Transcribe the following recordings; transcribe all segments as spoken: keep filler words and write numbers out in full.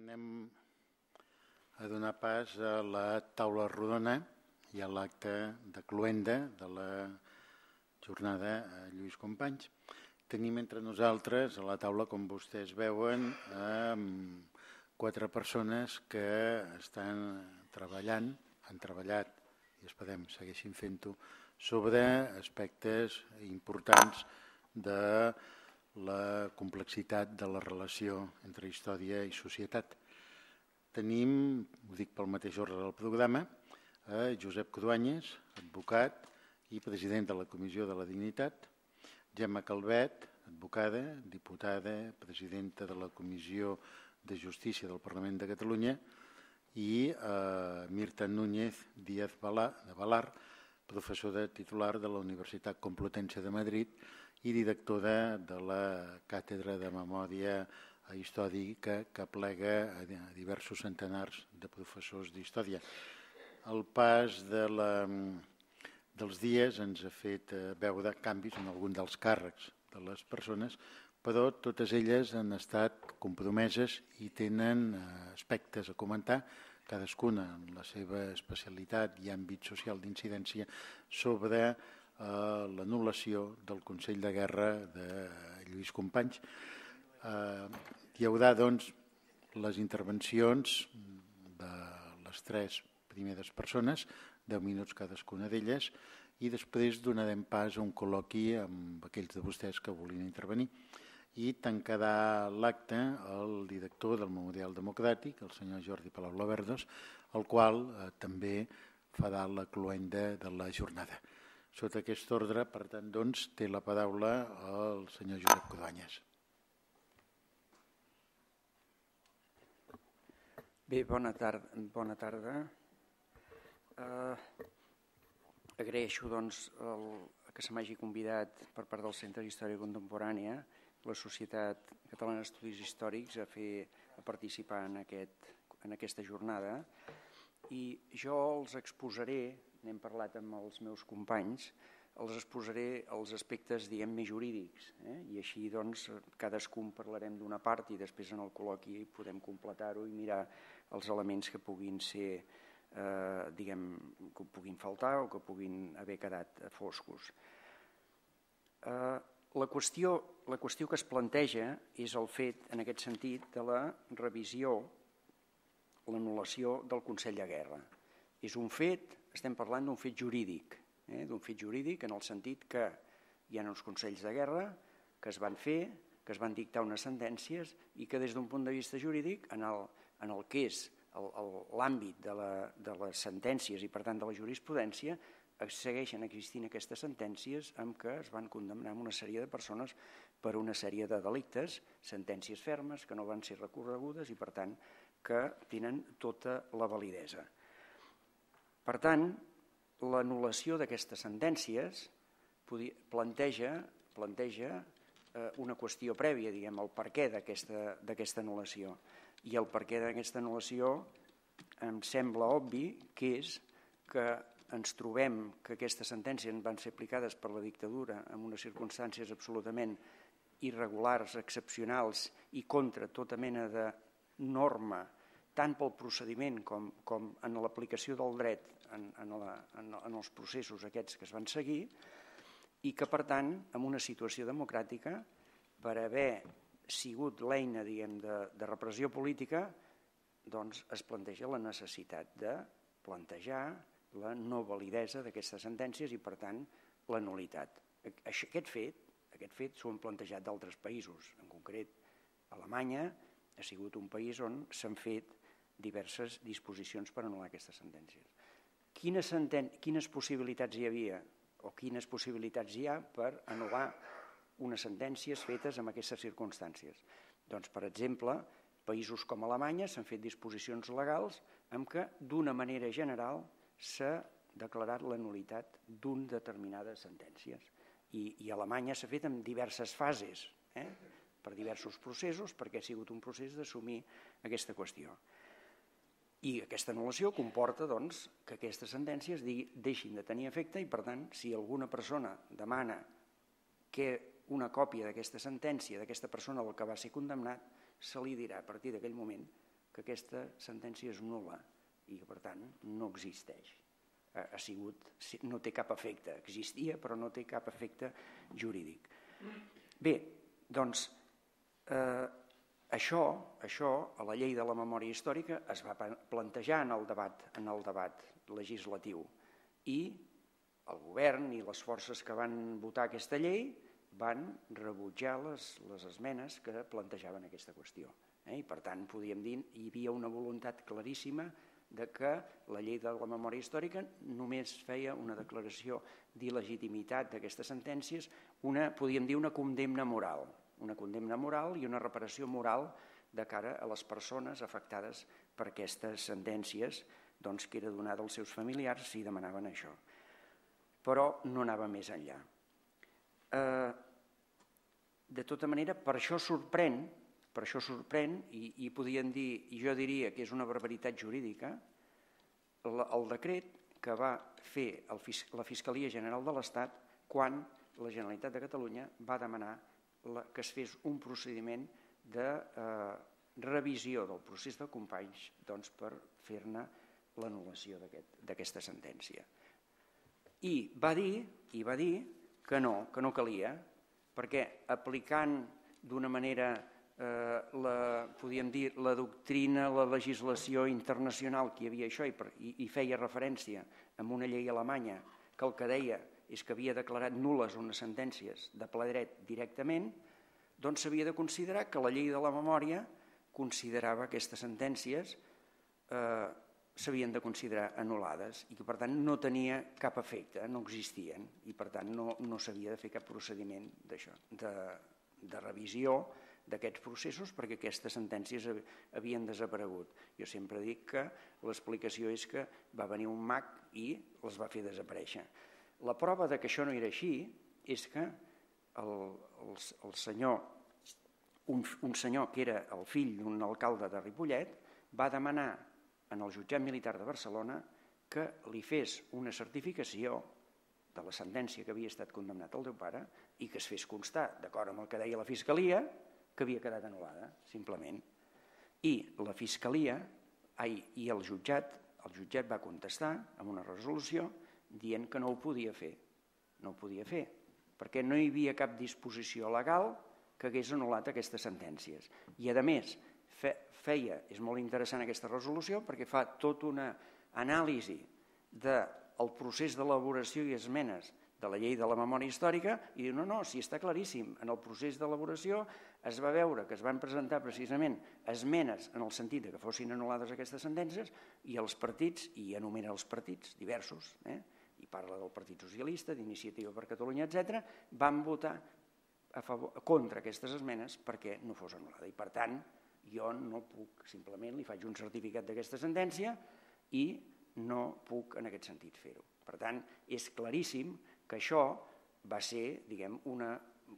anem a donar pas a la taula rodona i a l'acte de cloenda de la jornada a Lluís Companys. Tenim entre nosaltres a la taula, com vostès veuen, quatre persones que estan treballant, han treballat i esperem segueixin fent-ho, sobre aspectes importants de la complexitat de la relació entre història i societat. Tenim, ho dic pel mateix ordre del programa, a Josep Cruanyes, advocat i president de la Comissió de la Dignitat, Gemma Calvet, advocada, diputada, presidenta de la Comissió de Justícia del Parlament de Catalunya, i eh, Mirta Núñez Díaz de Valar, professora titular de la Universitat Complutense de Madrid i directora de la Càtedra de Memòria Històrica que aplega a diversos centenars de professors d'història. El pas de la, dels dies ens ha fet veure canvis en algun dels càrrecs de les persones, però totes elles han estat compromeses i tenen aspectes a comentar, cadascuna en la seva especialitat i àmbit social d'incidència, sobre eh, l'anul·lació del Consell de Guerra de Lluís Companys. Eh, hi haurà, doncs, les intervencions de les tres primeres persones, deu minuts cadascuna d'elles, i després donarem pas a un col·loqui amb aquells de vostès que vulguin intervenir. I tancarà l'acte el director del Memorial Democràtic, el senyor Jordi Palau Laverdos, el qual eh, també farà la cloenda de la jornada. Sota aquest ordre, per tant, doncs, té la paraula el senyor Josep Cruanyes. Bé, bona tarda. Bona tarda. Uh, agraeixo doncs, el, que se m'hagi convidat per part del Centre d'Història Contemporània, la Societat Catalana d'Estudis Històrics, a, fer, a participar en, aquest, en aquesta jornada. I jo els exposaré, n'hem parlat amb els meus companys, els exposaré els aspectes, diguem, més jurídics. Eh? I així, doncs, cadascun parlarem d'una part i després en el col·loqui podem completar-ho i mirar els elements que puguin ser, eh, diguem, que puguin faltar o que puguin haver quedat foscos. Eh, La qüestió, la qüestió que es planteja és el fet, en aquest sentit, de la revisió, l'anul·lació del Consell de Guerra. És un fet, estem parlant d'un fet jurídic, eh? d'un fet jurídic en el sentit que hi ha uns consells de guerra que es van fer, que es van dictar unes sentències i que des d'un punt de vista jurídic, en el, en el que és l'àmbit de, la, de les sentències i per tant de la jurisprudència, segueixen existint aquestes sentències amb què es van condemnar una sèrie de persones per una sèrie de delictes, sentències fermes que no van ser recorregudes i per tant que tenen tota la validesa. Per tant, l'anul·lació d'aquestes sentències planteja, planteja una qüestió prèvia, diguem, el perquè d'aquesta anul·lació. I el perquè d'aquesta anul·lació em sembla obvi que és que ens trobem que aquestes sentències van ser aplicades per la dictadura en unes circumstàncies absolutament irregulars, excepcionals i contra tota mena de norma, tant pel procediment com, com en l'aplicació del dret en, en, la, en, en els processos aquests que es van seguir i que, per tant, en una situació democràtica, per haver sigut l'eina, diguem, de, de repressió política, doncs es planteja la necessitat de plantejar la no validesa d'aquestes sentències i, per tant, la nul·litat. Aquest fet, aquest fet s'ho han plantejat d'altres països. En concret, Alemanya ha sigut un país on s'han fet diverses disposicions per anul·lar aquestes sentències. Quines, senten... quines possibilitats hi havia o quines possibilitats hi ha per anul·lar unes sentències fetes en aquestes circumstàncies? Doncs, per exemple, països com Alemanya s'han fet disposicions legals en què, d'una manera general, s'ha declarat la nul·litat d'unes determinades sentències. I, i Alemanya s'ha fet en diverses fases, eh? per diversos processos, perquè ha sigut un procés d'assumir aquesta qüestió. I aquesta anul·lació comporta doncs, que aquestes sentències deixin de tenir efecte i, per tant, si alguna persona demana que una còpia d'aquesta sentència d'aquesta persona del que va ser condemnat, se li dirà a partir d'aquell moment que aquesta sentència és nul·la i que, per tant, no existeix. Ha sigut, no té cap efecte. Existia, però no té cap efecte jurídic. Bé, doncs, eh, això, això a la llei de la memòria històrica es va plantejar en el debat, en el debat legislatiu i el govern i les forces que van votar aquesta llei van rebutjar les, les esmenes que plantejaven aquesta qüestió. Eh? I per tant, podíem dir, hi havia una voluntat claríssima de que la llei de la memòria històrica només feia una declaració d'il·legitimitat d'aquestes sentències, una, podríem dir, una condemna moral, una condemna moral i una reparació moral de cara a les persones afectades per aquestes sentències, doncs, que era donada als seus familiars si demanaven això. Però no anava més enllà. Eh, de tota manera, per això sorprèn Per això sorprèn, i, i podien dir, i jo diria que és una barbaritat jurídica, el, el decret que va fer el, la Fiscalia General de l'Estat quan la Generalitat de Catalunya va demanar la, que es fes un procediment de eh, revisió del procés de Companys, doncs, per fer-ne l'anul·lació d'aquesta sentència. I va dir, i va dir que no, que no calia, perquè aplicant d'una manera Eh, la, podíem dir, la doctrina, la legislació internacional que hi havia això i, i, i feia referència a una llei alemanya que el que deia és que havia declarat nul·les unes sentències de ple dret directament, doncs s'havia de considerar que la llei de la memòria considerava aquestes sentències eh, s'havien de considerar anul·lades i que per tant no tenia cap efecte, no existien i per tant no, no s'havia de fer cap procediment d'això, de, de revisió d'aquests processos perquè aquestes sentències havien desaparegut. Jo sempre dic que l'explicació és que va venir un mag i les va fer desaparèixer. La prova de que això no era així és que el, el, el senyor, un, un senyor que era el fill d'un alcalde de Ripollet va demanar en el jutjat militar de Barcelona que li fes una certificació de la sentència que havia estat condemnat el teu pare i que es fes constar, d'acord amb el que deia la Fiscalia, que havia quedat anul·lada, simplement. I la Fiscalia ai, i el jutjat, el jutjat va contestar amb una resolució dient que no ho podia fer. No ho podia fer, perquè no hi havia cap disposició legal que hagués anul·lat aquestes sentències. I, a més, fe, feia, és molt interessant aquesta resolució, perquè fa tota una anàlisi del procés d'elaboració i esmenes de la llei de la memòria històrica i diu, no, no, si està claríssim, en el procés d'elaboració es va veure que es van presentar precisament esmenes en el sentit que fossin anul·lades aquestes sentències i els partits, i enumera els partits diversos, eh, i parla del Partit Socialista, d'Iniciativa per Catalunya, etcètera, van votar a favor, contra aquestes esmenes perquè no fos anul·lada. I per tant, jo no puc, simplement li faig un certificat d'aquesta sentència i no puc en aquest sentit fer-ho. Per tant, és claríssim que això va ser, diguem, una,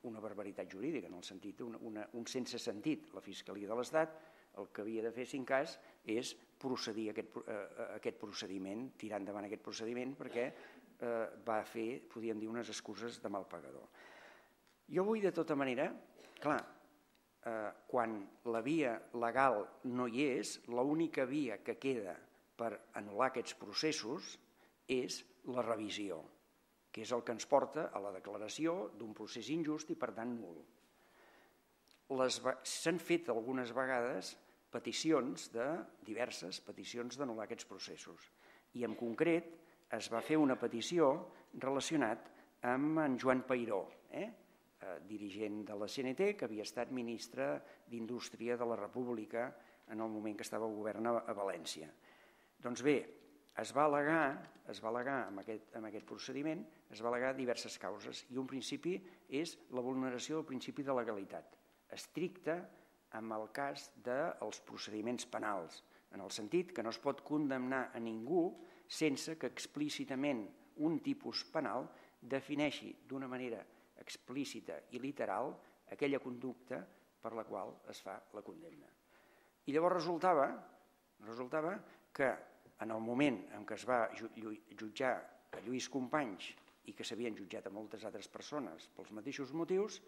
una barbaritat jurídica, en el sentit, una, una, un sense sentit. La Fiscalia de l'Estat el que havia de fer, si en cas, és procedir a aquest, a aquest procediment, tirar endavant aquest procediment, perquè eh, va fer, podríem dir, unes excuses de mal pagador. Jo vull, de tota manera, clar, eh, quan la via legal no hi és, l'única via que queda per anul·lar aquests processos és la revisió, que és el que ens porta a la declaració d'un procés injust i, per tant, nul. S'han fet algunes vegades peticions, de diverses peticions d'anul·lar aquests processos. I, en concret, es va fer una petició relacionada amb en Joan Peiró, eh? dirigent de la C N T, que havia estat ministre d'Indústria de la República en el moment que estava al govern a València. Doncs bé, es va al·legar, es va al·legar amb aquest, amb aquest procediment, es va al·legar diverses causes i un principi és la vulneració del principi de legalitat, estricta amb el cas dels procediments penals, en el sentit que no es pot condemnar a ningú sense que explícitament un tipus penal defineixi d'una manera explícita i literal aquella conducta per la qual es fa la condemna. I llavors resultava, resultava que en el moment en què es va jutjar a Lluís Companys i que s'havien jutjat a moltes altres persones pels mateixos motius,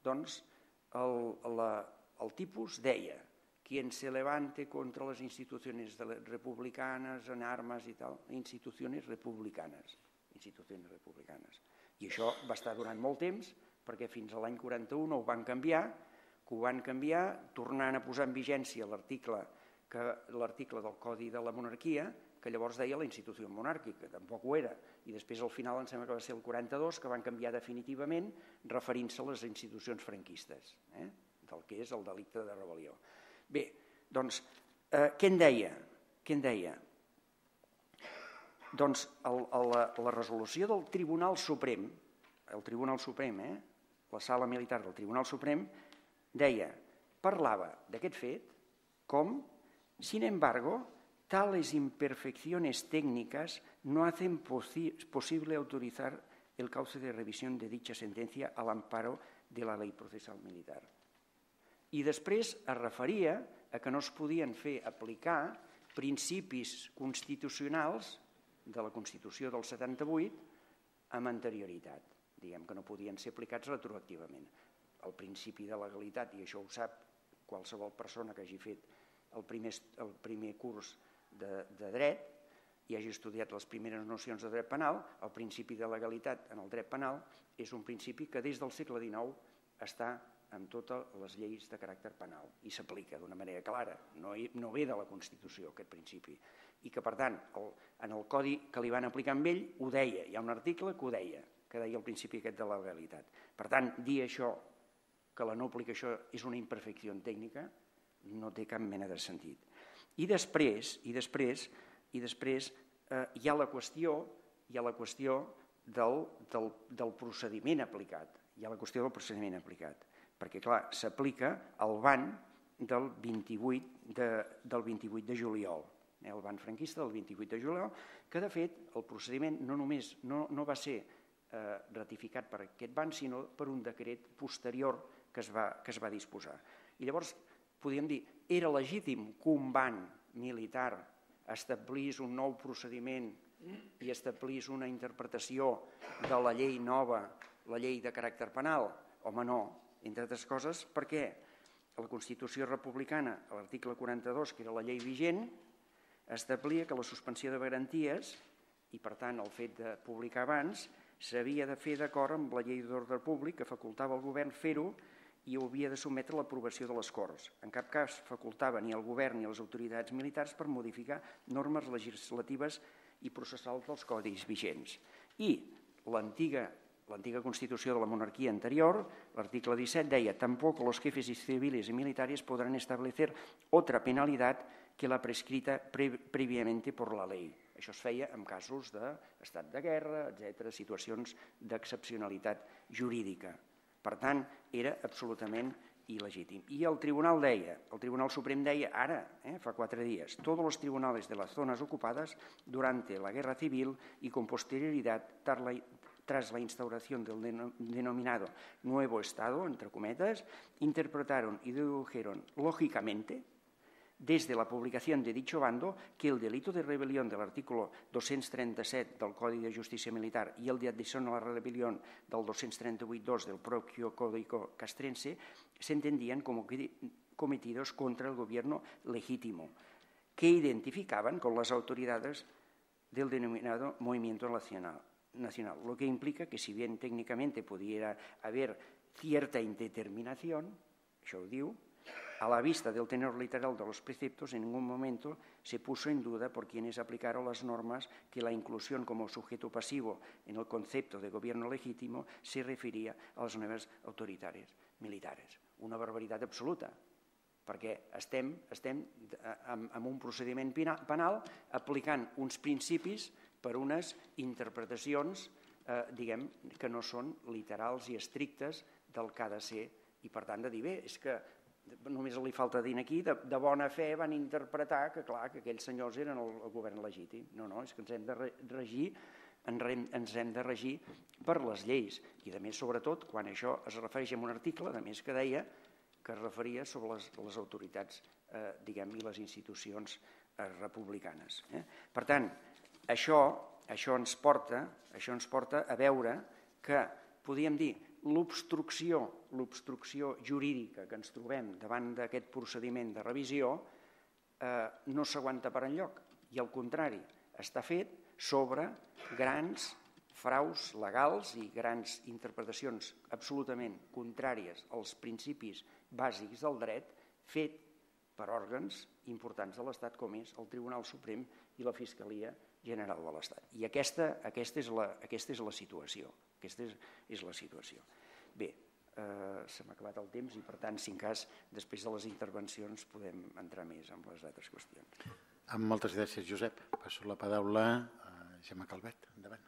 doncs el, la, el tipus deia quien se levante contra les institucions republicanes en armes i tal, institucions republicanes, institucions republicanes. I això va estar durant molt temps, perquè fins a l'any quaranta-u no ho van canviar, que ho van canviar tornant a posar en vigència l'article del Codi de la Monarquia, que llavors deia la institució monàrquica, tampoc ho era, i després al final em sembla que va ser el quaranta-dos que van canviar definitivament referint-se a les institucions franquistes, del que és el delicte de rebel·lió. Bé, doncs, què en deia? Què en deia? Doncs la resolució del Tribunal Suprem, el Tribunal Suprem, la sala militar del Tribunal Suprem, deia, parlava d'aquest fet com, sin embargo, tales imperfecciones técnicas no hacen posible autorizar el cauce de revisión de dicha sentencia al amparo de la ley procesal militar. I després es referia a que no es podien fer aplicar principis constitucionals de la Constitució del setanta-vuit amb anterioritat. Diguem que no podien ser aplicats retroactivament. El principi de legalitat, i això ho sap qualsevol persona que hagi fet el primer curs de dret i hagi estudiat les primeres nocions de dret penal, el principi de legalitat en el dret penal és un principi que des del segle dinou està en totes les lleis de caràcter penal i s'aplica d'una manera clara, no ve de la Constitució aquest principi, i que per tant en el codi que li van aplicar amb ell ho deia, hi ha un article que ho deia, que deia el principi aquest de la legalitat. Per tant, dir això, que la no aplicació és una imperfecció tècnica, no té cap mena de sentit. I després, i després, i després hi ha la qüestió, hi ha la qüestió del, del, del procediment aplicat. Hi ha la qüestió del procediment aplicat. Perquè, clar, s'aplica el ban del vint-i-vuit de, del vint-i-vuit de juliol, eh, el ban franquista del vint-i-vuit de juliol, que de fet el procediment no només no, no va ser eh, ratificat per aquest ban, sinó per un decret posterior que es va, que es va disposar. I llavors, podríem dir, era legítim que un ban militar establís un nou procediment i establís una interpretació de la llei nova, la llei de caràcter penal? Home, no, entre altres coses, perquè la Constitució republicana, a l'article quaranta-dos, que era la llei vigent, establia que la suspensió de garanties, i per tant el fet de publicar abans, s'havia de fer d'acord amb la llei d'ordre públic que facultava al govern fer-ho i ho havia de sotmetre a l'aprovació de les Corts. En cap cas facultava ni al govern ni a les autoritats militars per modificar normes legislatives i processals dels codis vigents. I l'antiga l'antiga Constitució de la monarquia anterior, l'article disset, deia «Tampoco los jefes civiles y militares podrán establecer otra penalidad que la prescrita previamente por la ley». Això es feia en casos d'estat de guerra, etcètera, situacions d'excepcionalitat jurídica. Per tant, era absolutament il·legítim. I el Tribunal deia, el Tribunal Suprem deia ara, eh, fa quatre dies, «Todos los tribunales de las zonas ocupadas durante la guerra civil y con posterioridad tras la instauración del denominado nuevo Estado, entre cometas, interpretaron y dedujeron lógicamente desde la publicación de dicho bando que el delito de rebelión del artículo doscientos treinta-set del Código de Justicia Militar y el de adhesión a la rebelión del doscientos treinta y ocho punto dos del propio Código castrense se entendían como cometidos contra el gobierno legítimo, que identificaban con las autoridades del denominado Movimiento Nacional, nacional, lo que implica que si bien técnicamente pudiera haber cierta indeterminación, això ho diu, a la vista del tenor literal de los preceptos, en ningún momento se puso en duda por quienes aplicaron las normas que la inclusión como sujeto pasivo en el concepto de gobierno legítimo se refería a las nuevas autoridades militares. Una barbaritat absoluta, perquè estem, estem amb, amb un procediment penal aplicant uns principis per unes interpretacions eh, diguem, que no són literals i estrictes del que ha de ser, i per tant de dir, bé, és que només li falta dir aquí, de, de bona fe van interpretar que, clar, que aquells senyors eren el, el govern legítim. No, no, és que ens hem de regir, ens hem de regir per les lleis. I, a més, sobretot, quan això es refereix a un article, a més que deia que es referia sobre les, les autoritats, eh, diguem, i les institucions eh, republicanes. Eh? Per tant, això, això, ens porta, això ens porta a veure que podríem dir l'obstrucció, l'obstrucció jurídica que ens trobem davant d'aquest procediment de revisió no s'aguanta per enlloc i al contrari, està fet sobre grans fraus legals i grans interpretacions absolutament contràries als principis bàsics del dret fet per òrgans importants de l'Estat com és el Tribunal Suprem i la Fiscalia General de l'Estat. I aquesta, aquesta, és la, aquesta és la situació. Aquesta és, és la situació. Bé, eh, se m'ha acabat el temps i per tant, si en cas, després de les intervencions podem entrar més en les altres qüestions. Amb moltes gràcies, Josep. Passo la paraula a Gemma Calvet. Endavant.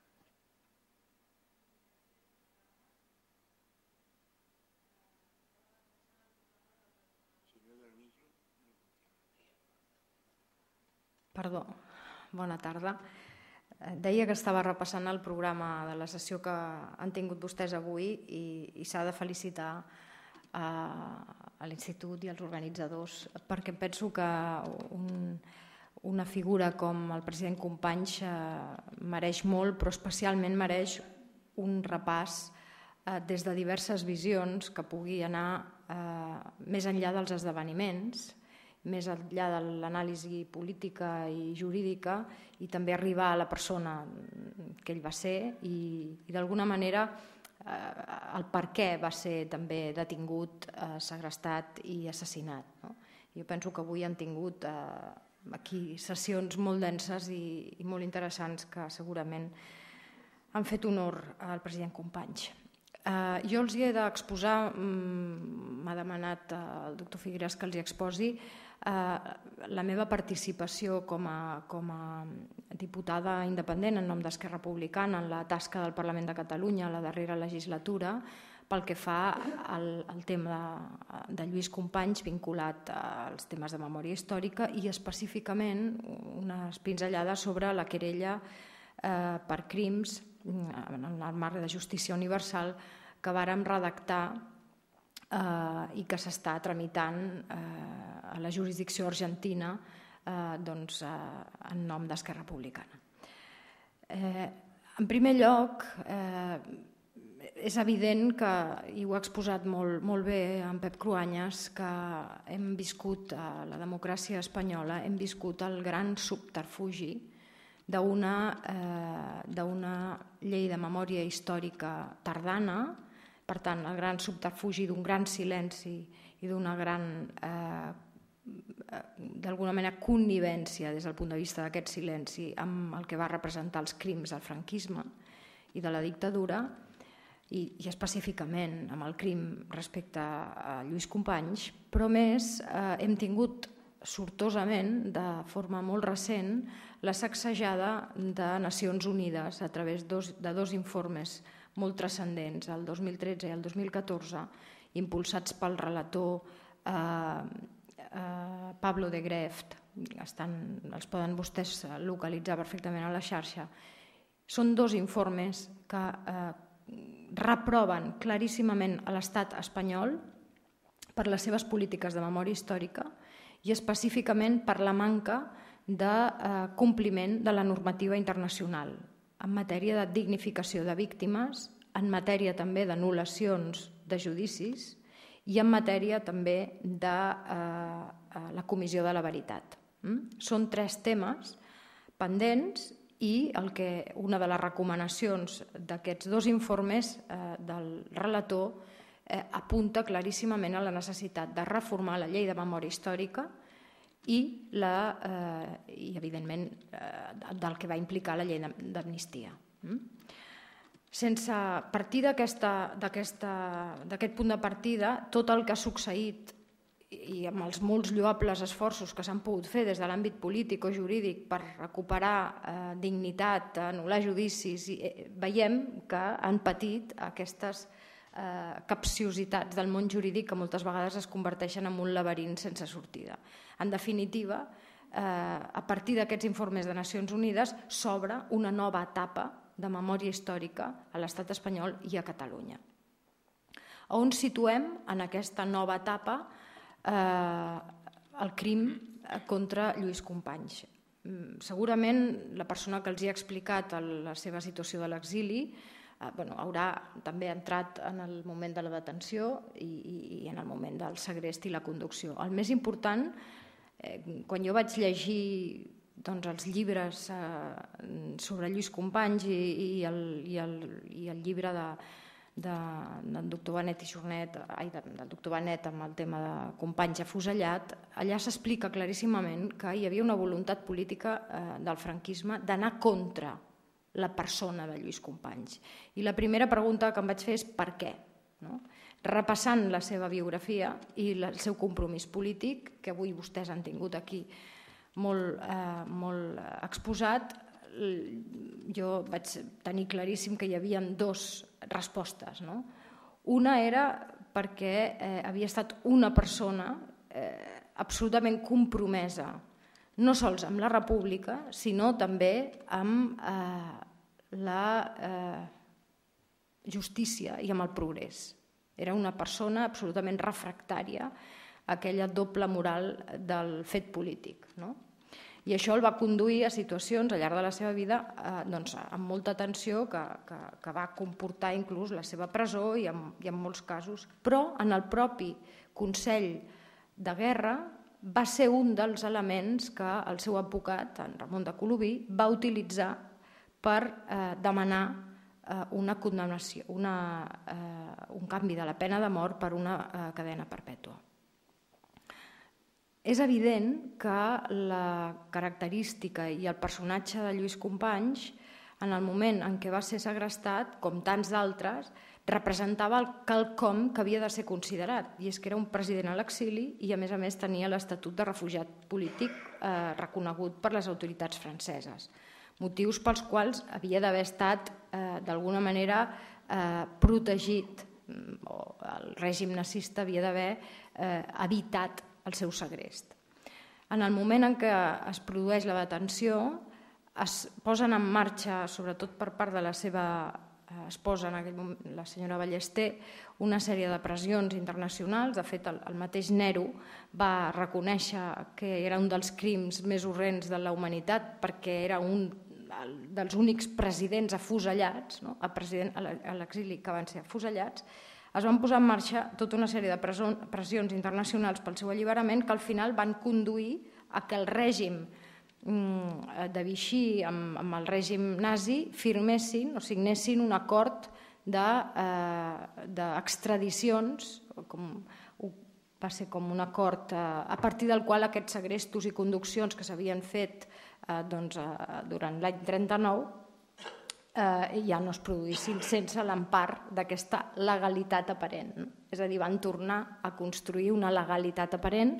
Perdó, bona tarda. Deia que estava repassant el programa de la sessió que han tingut vostès avui i, i s'ha de felicitar a, a l'Institut i als organitzadors perquè penso que un, una figura com el president Companys eh, mereix molt, però especialment mereix un repàs eh, des de diverses visions que pugui anar eh, més enllà dels esdeveniments, més enllà de l'anàlisi política i jurídica i també arribar a la persona que ell va ser i, i d'alguna manera eh, el per què va ser també detingut, eh, segrestat i assassinat. No? Jo penso que avui han tingut eh, aquí sessions molt denses i, i molt interessants que segurament han fet honor al president Companys. Eh, jo els hi he d'exposar, m'ha demanat el doctor Figueras que els hi exposi, eh, la meva participació com a, com a diputada independent en nom d'Esquerra Republicana en la tasca del Parlament de Catalunya a la darrera legislatura pel que fa al, al tema de, de Lluís Companys vinculat als temes de memòria històrica i específicament unes pinzellades sobre la querella eh, per crims en el marc de justícia universal que vàrem redactar eh, i que s'està tramitant eh, a la jurisdicció argentina eh, doncs, eh, en nom d'Esquerra Republicana. Eh, en primer lloc, eh, és evident que, i ho ha exposat molt, molt bé en Pep Cruanyes, que hem viscut a la democràcia espanyola, hem viscut el gran subterfugi d'una eh, llei de memòria històrica tardana, per tant, el gran subterfugi d'un gran silenci i d'una gran, eh, d'alguna manera, connivència des del punt de vista d'aquest silenci amb el que va representar els crims del franquisme i de la dictadura, i, i específicament amb el crim respecte a Lluís Companys, però més eh, hem tingut sortosament, de forma molt recent, la sacsejada de Nacions Unides a través dos, de dos informes molt transcendents, el dos mil tretze i el dos mil catorze, impulsats pel relator eh, eh, Pablo de Greft, estan, els poden vostès localitzar perfectament a la xarxa. Són dos informes que eh, reproven claríssimament a l'estat espanyol per les seves polítiques de memòria històrica i específicament per la manca de eh, compliment de la normativa internacional en matèria de dignificació de víctimes, en matèria també d'anul·lacions de judicis i en matèria també de eh, la comissió de la veritat. Mm? Són tres temes pendents i el que una de les recomanacions d'aquests dos informes eh, del relator eh, apunta claríssimament a la necessitat de reformar la llei de memòria històrica i, la, eh, i evidentment, eh, del que va implicar la llei d'amnistia. Mm? Sense partir d'aquest punt de partida, tot el que ha succeït i amb els molts lloables esforços que s'han pogut fer des de l'àmbit polític o jurídic per recuperar eh, dignitat, anul·lar judicis, i, eh, veiem que han patit aquestes eh, capciositats del món jurídic que moltes vegades es converteixen en un laberint sense sortida. En definitiva, eh, a partir d'aquests informes de Nacions Unides s'obre una nova etapa de memòria històrica a l'estat espanyol i a Catalunya. On situem en aquesta nova etapa eh, el crim contra Lluís Companys? Segurament la persona que els hi ha explicat la seva situació de l'exili bueno, haurà també entrat en el moment de la detenció i, i, i en el moment del segrest i la conducció. El més important, eh, quan jo vaig llegir doncs, els llibres eh, sobre Lluís Companys i, i, el, i, el, i el llibre de, de, del doctor Benet i Jornet, ai, del doctor Benet amb el tema de Companys afusellat, allà s'explica claríssimament que hi havia una voluntat política eh, del franquisme d'anar contra la persona de Lluís Companys. I la primera pregunta que em vaig fer és per què? No? Repassant la seva biografia i el seu compromís polític, que avui vostès han tingut aquí molt, eh, molt exposat, jo vaig tenir claríssim que hi havia dues respostes. No? Una era perquè eh, havia estat una persona eh, absolutament compromesa no sols amb la República, sinó també amb eh, la eh, justícia i amb el progrés. Era una persona absolutament refractària a aquella doble moral del fet polític. No? I això el va conduir a situacions al llarg de la seva vida eh, doncs, amb molta tensió que, que, que va comportar inclús la seva presó i en, i en molts casos. Però en el propi Consell de Guerra va ser un dels elements que el seu advocat, en Ramon de Colobí, va utilitzar per eh, demanar eh, una condemnació, una, eh, un canvi de la pena de mort per una eh, cadena perpètua. És evident que la característica i el personatge de Lluís Companys, en el moment en què va ser segrestat, com tants d'altres, representava el quelcom que havia de ser considerat, i és que era un president a l'exili i a més a més tenia l'estatut de refugiat polític eh, reconegut per les autoritats franceses, motius pels quals havia d'haver estat eh, d'alguna manera eh, protegit, o el règim nazista havia d'haver eh, evitat el seu segrest. En el moment en què es produeix la detenció, es posen en marxa, sobretot per part de la seva esposa, en aquell moment, la senyora Ballester, una sèrie de pressions internacionals. De fet, el, el mateix Nero va reconèixer que era un dels crims més horrends de la humanitat perquè era un dels únics presidents afusellats, no? a, president, a l'exili que van ser afusellats. Es van posar en marxa tota una sèrie de pressions internacionals pel seu alliberament que al final van conduir a que el règim de Vichy amb, amb el règim nazi firmessin o signessin un acord d'extradicions, de, eh, va ser com un acord eh, a partir del qual aquests segrestos i conduccions que s'havien fet eh, doncs, eh, durant l'any trenta-nou eh, ja no es produïssin sense l'empar d'aquesta legalitat aparent. No? És a dir, van tornar a construir una legalitat aparent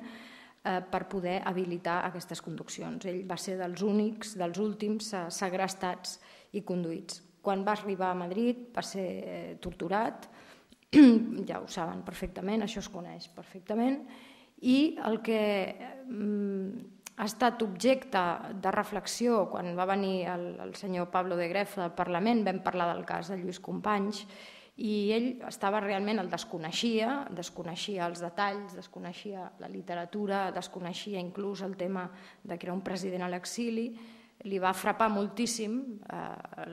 per poder habilitar aquestes conduccions. Ell va ser dels únics, dels últims segrestats i conduïts. Quan va arribar a Madrid va ser torturat, ja ho saben perfectament, això es coneix perfectament, i el que ha estat objecte de reflexió quan va venir el, el senyor Pablo de Gref al Parlament, vam parlar del cas de Lluís Companys, i ell estava realment, el desconeixia, desconeixia els detalls, desconeixia la literatura, desconeixia inclús el tema de que era un president a l'exili. Li va frapar moltíssim eh,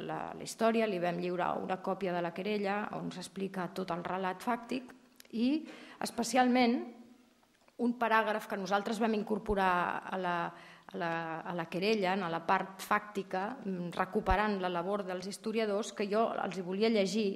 la, la història, li vam lliurar una còpia de la querella on s'explica tot el relat fàctic i especialment un paràgraf que nosaltres vam incorporar a la, a la, a la querella, a la part fàctica, recuperant la labor dels historiadors, que jo els hi volia llegir.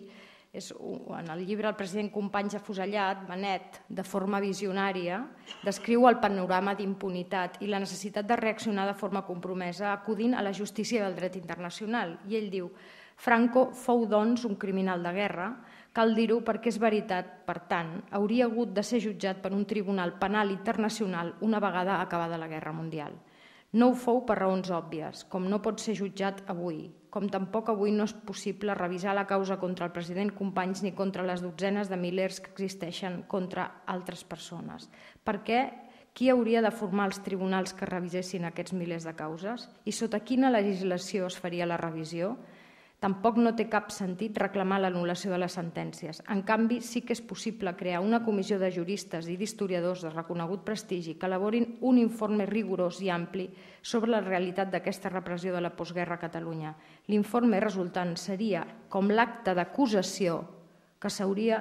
És, en el llibre El president Companys afusellat, Benet, de forma visionària, descriu el panorama d'impunitat i la necessitat de reaccionar de forma compromesa acudint a la justícia del dret internacional. I ell diu: Franco fou, doncs, un criminal de guerra, cal dir-ho perquè és veritat, per tant, hauria hagut de ser jutjat per un tribunal penal internacional una vegada acabada la Guerra Mundial. No ho fou per raons òbvies, com no pot ser jutjat avui, com tampoc avui no és possible revisar la causa contra el president Companys ni contra les dotzenes de milers que existeixen contra altres persones. Perquè qui hauria de formar els tribunals que revisessin aquests milers de causes? I sota quina legislació es faria la revisió? Tampoc no té cap sentit reclamar l'anul·lació de les sentències. En canvi, sí que és possible crear una comissió de juristes i d'historiadors de reconegut prestigi que elaborin un informe rigorós i ampli sobre la realitat d'aquesta repressió de la postguerra a Catalunya. L'informe resultant seria com l'acte d'acusació que s'hauria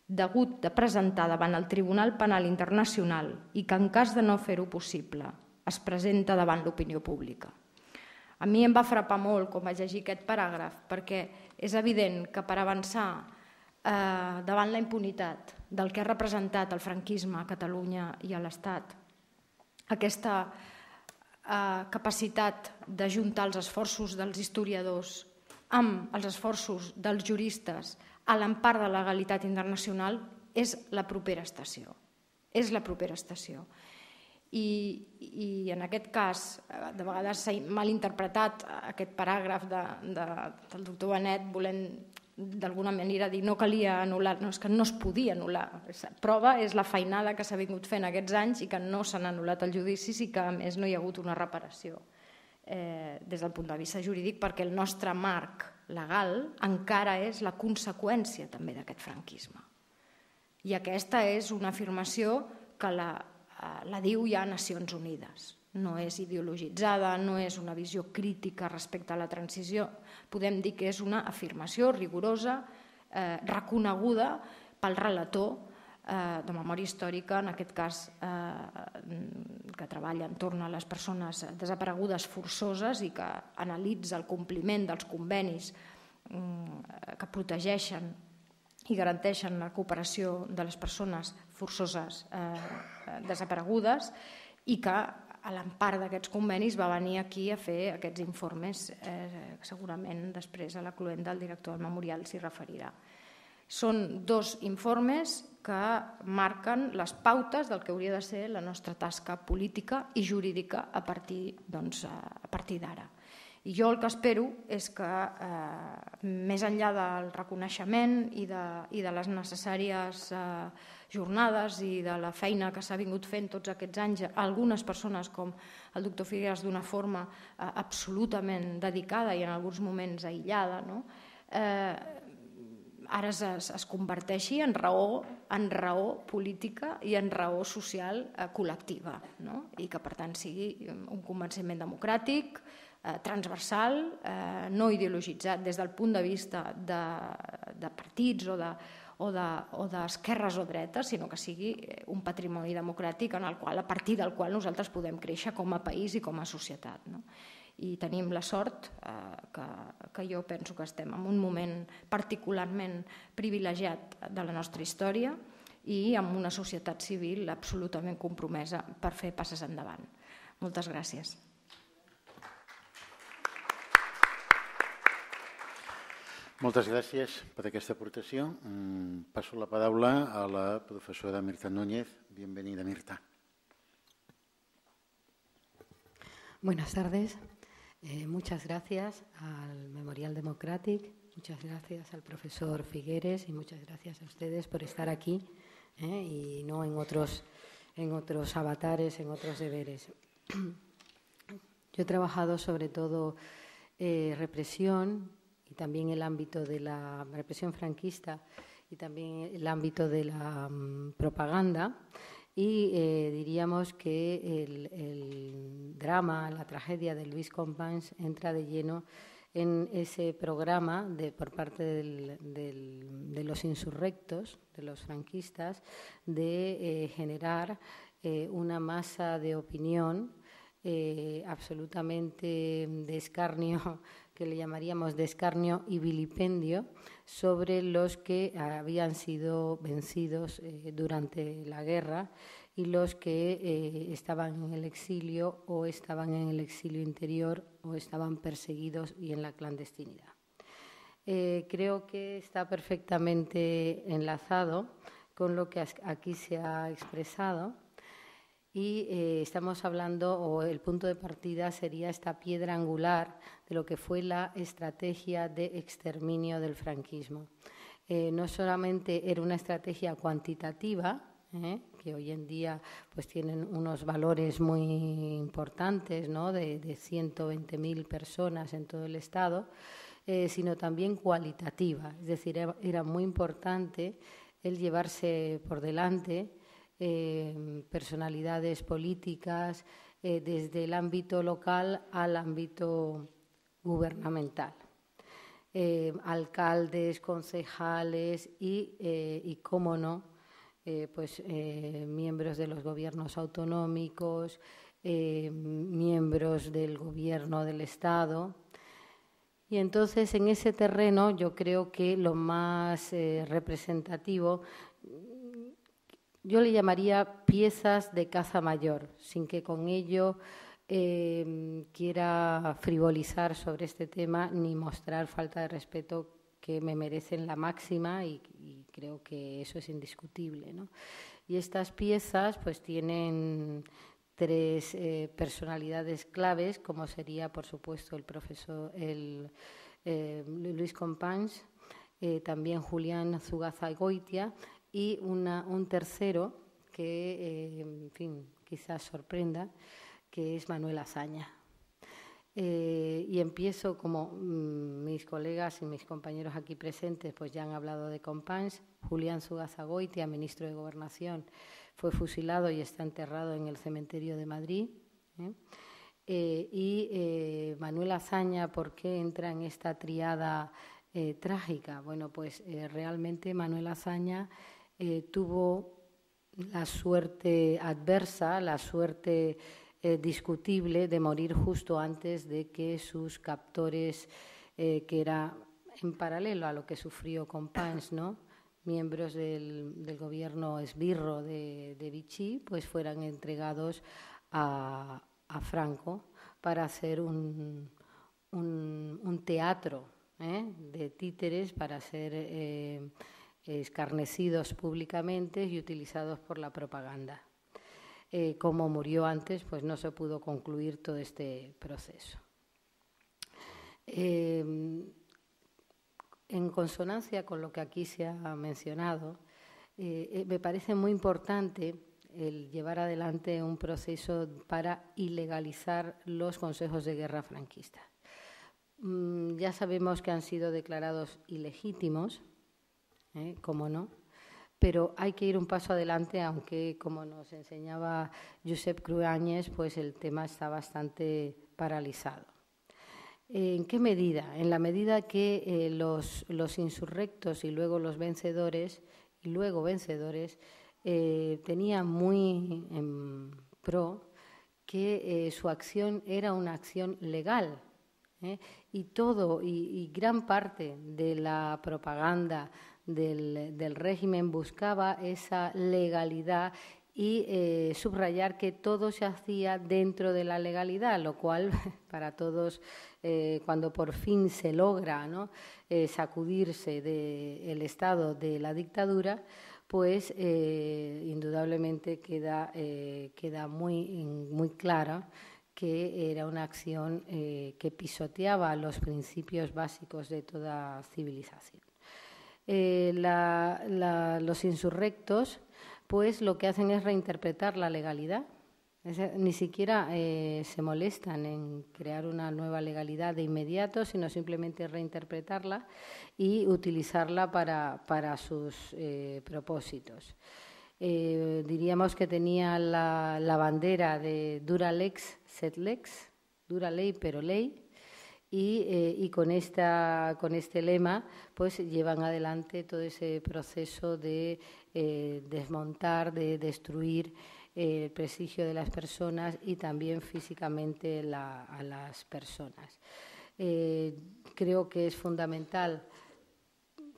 degut de presentar davant el Tribunal Penal Internacional i que, en cas de no fer-ho possible, es presenta davant l'opinió pública. A mi em va frapar molt quan vaig llegir aquest paràgraf, perquè és evident que per avançar eh, davant la impunitat del que ha representat el franquisme a Catalunya i a l'Estat, aquesta eh, capacitat d'ajuntar els esforços dels historiadors amb els esforços dels juristes a l'empar de la legalitat internacional és la propera estació. És la propera estació. I, i en aquest cas, de vegades s'ha malinterpretat aquest paràgraf de, de, del doctor Benet volent d'alguna manera dir no calia anul·lar, no, és que no es podia anul·lar. Prova és la feinada que s'ha vingut fent aquests anys i que no s'han anul·lat els judicis i que a més no hi ha hagut una reparació eh, des del punt de vista jurídic, perquè el nostre marc legal encara és la conseqüència també d'aquest franquisme. I aquesta és una afirmació que la la diu ja Nacions Unides. No és ideologitzada, no és una visió crítica respecte a la transició. Podem dir que és una afirmació rigorosa, eh, reconeguda pel relator eh, de memòria històrica, en aquest cas eh, que treballa entorn a les persones desaparegudes forçoses i que analitza el compliment dels convenis eh, que protegeixen i garanteixen la cooperació de les persones forçoses eh, desaparegudes i que a l'empar d'aquests convenis va venir aquí a fer aquests informes, eh, segurament després a la cluenda el director del memorial s'hi referirà. Són dos informes que marquen les pautes del que hauria de ser la nostra tasca política i jurídica a partir, doncs, a partir d'ara. I jo el que espero és que, eh, més enllà del reconeixement i de, i de les necessàries eh, jornades i de la feina que s'ha vingut fent tots aquests anys, algunes persones com el doctor Figueras d'una forma eh, absolutament dedicada i en alguns moments aïllada, no? eh, ara es, es converteixi en raó, en raó política i en raó social eh, col·lectiva, no? I que per tant sigui un convenciment democràtic, transversal, eh, no ideologitzat des del punt de vista de, de partits o de, o de, o d'esquerres o dretes, sinó que sigui un patrimoni democràtic en el qual, a partir del qual nosaltres podem créixer com a país i com a societat. No? I tenim la sort eh, que, que jo penso que estem en un moment particularment privilegiat de la nostra història i amb una societat civil absolutament compromesa per fer passes endavant. Moltes gràcies. Moltes gràcies per aquesta aportació. Passo la paraula a la professora Mirta Núñez. Bienvenida, Mirta. Buenas tardes. Eh, muchas gracias al Memorial Democratic, muchas gracias al profesor Figueres y muchas gracias a ustedes por estar aquí eh, y no en otros, en otros avatares, en otros deberes. Yo he trabajado sobre todo eh, represión, y también el ámbito de la represión franquista y también el ámbito de la um, propaganda y eh, diríamos que el, el drama, la tragedia de Lluís Companys entra de lleno en ese programa de, por parte del, del, de los insurrectos, de los franquistas, de eh, generar eh, una masa de opinión eh, absolutamente de escarnio, que le llamaríamos de escarnio y vilipendio, sobre los que habían sido vencidos eh, durante la guerra y los que eh, estaban en el exilio o estaban en el exilio interior o estaban perseguidos y en la clandestinidad. Eh, creo que está perfectamente enlazado con lo que aquí se ha expresado. Y eh, estamos hablando, o el punto de partida sería esta piedra angular de lo que fue la estrategia de exterminio del franquismo. Eh, no solamente era una estrategia cuantitativa, eh, que hoy en día pues, tienen unos valores muy importantes, ¿no? de, de ciento veinte mil personas en todo el Estado, eh, sino también cualitativa. Es decir, era, era muy importante el llevarse por delante eh, personalidades políticas eh, desde el ámbito local al ámbito gubernamental. Eh, alcaldes, concejales y, eh, y cómo no, eh, pues, eh, miembros de los gobiernos autonómicos, eh, miembros del gobierno del Estado. Y entonces, en ese terreno, yo creo que lo más eh, representativo, yo le llamaría piezas de caza mayor, sin que con ello eh, quiera frivolizar sobre este tema ni mostrar falta de respeto, que me merecen la máxima y, y creo que eso es indiscutible, ¿no? Y estas piezas pues tienen tres eh, personalidades claves, como sería, por supuesto, el profesor el, eh, Luis Companys, eh, también Julián Zugazagoitia y una, un tercero que, eh, en fin, quizás sorprenda, que es Manuel Azaña. Eh, y empiezo, como mmm, mis colegas y mis compañeros aquí presentes pues ya han hablado de Companys. Julián Zugazagoitia, ministro de Gobernación, fue fusilado y está enterrado en el cementerio de Madrid. ¿eh? Eh, y eh, Manuel Azaña, ¿por qué entra en esta triada eh, trágica? Bueno, pues eh, realmente Manuel Azaña eh, tuvo la suerte adversa, la suerte eh, discutible de morir justo antes de que sus captores, eh, que era en paralelo a lo que sufrió Companys, ¿no?, miembros del, del gobierno esbirro de, de Vichy, pues fueran entregados a, a Franco para hacer un, un, un teatro ¿eh? de títeres para ser eh, escarnecidos públicamente y utilizados por la propaganda. Eh, como murió antes, pues no se pudo concluir todo este proceso. Eh, en consonancia con lo que aquí se ha mencionado, eh, me parece muy importante el llevar adelante un proceso para ilegalizar los consejos de guerra franquistas. Mm, ya sabemos que han sido declarados ilegítimos, ¿eh? Cómo no, pero hay que ir un paso adelante, aunque, como nos enseñaba Josep Cruanyes, pues el tema está bastante paralizado. ¿En qué medida? En la medida que eh, los, los insurrectos y luego los vencedores, y luego vencedores, eh, tenían muy en pro que eh, su acción era una acción legal, ¿eh? y todo, y, y gran parte de la propaganda del, del régimen buscaba esa legalidad y eh, subrayar que todo se hacía dentro de la legalidad, lo cual para todos, eh, cuando por fin se logra, ¿no?, eh, sacudirse del estado de la dictadura, pues eh, indudablemente queda, eh, queda muy, muy clara que era una acción eh, que pisoteaba los principios básicos de toda civilización. Eh, la, la, los insurrectos pues lo que hacen es reinterpretar la legalidad. Es, ni siquiera eh, se molestan en crear una nueva legalidad de inmediato, sino simplemente reinterpretarla y utilizarla para, para sus eh, propósitos. Eh, diríamos que tenía la, la bandera de dura lex sed lex, dura ley pero ley, y, eh, y con, esta, con este lema pues llevan adelante todo ese proceso de eh, desmontar, de destruir eh, el prestigio de las personas y también físicamente la, a las personas. Eh, creo que es fundamental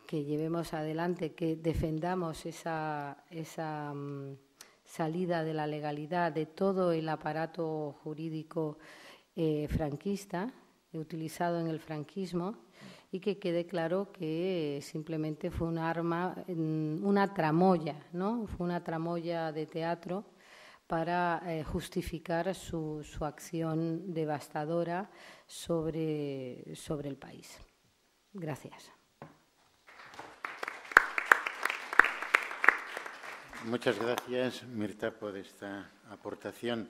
que llevemos adelante, que defendamos esa, esa um, salida de la legalidad de todo el aparato jurídico eh, franquista, utilizado en el franquismo, y que quede claro que simplemente fue un arma, una tramoya, ¿no? Fue una tramoya de teatro para eh, justificar su, su acción devastadora sobre, sobre el país. Gracias. Muchas gracias, Mirta, por esta aportación.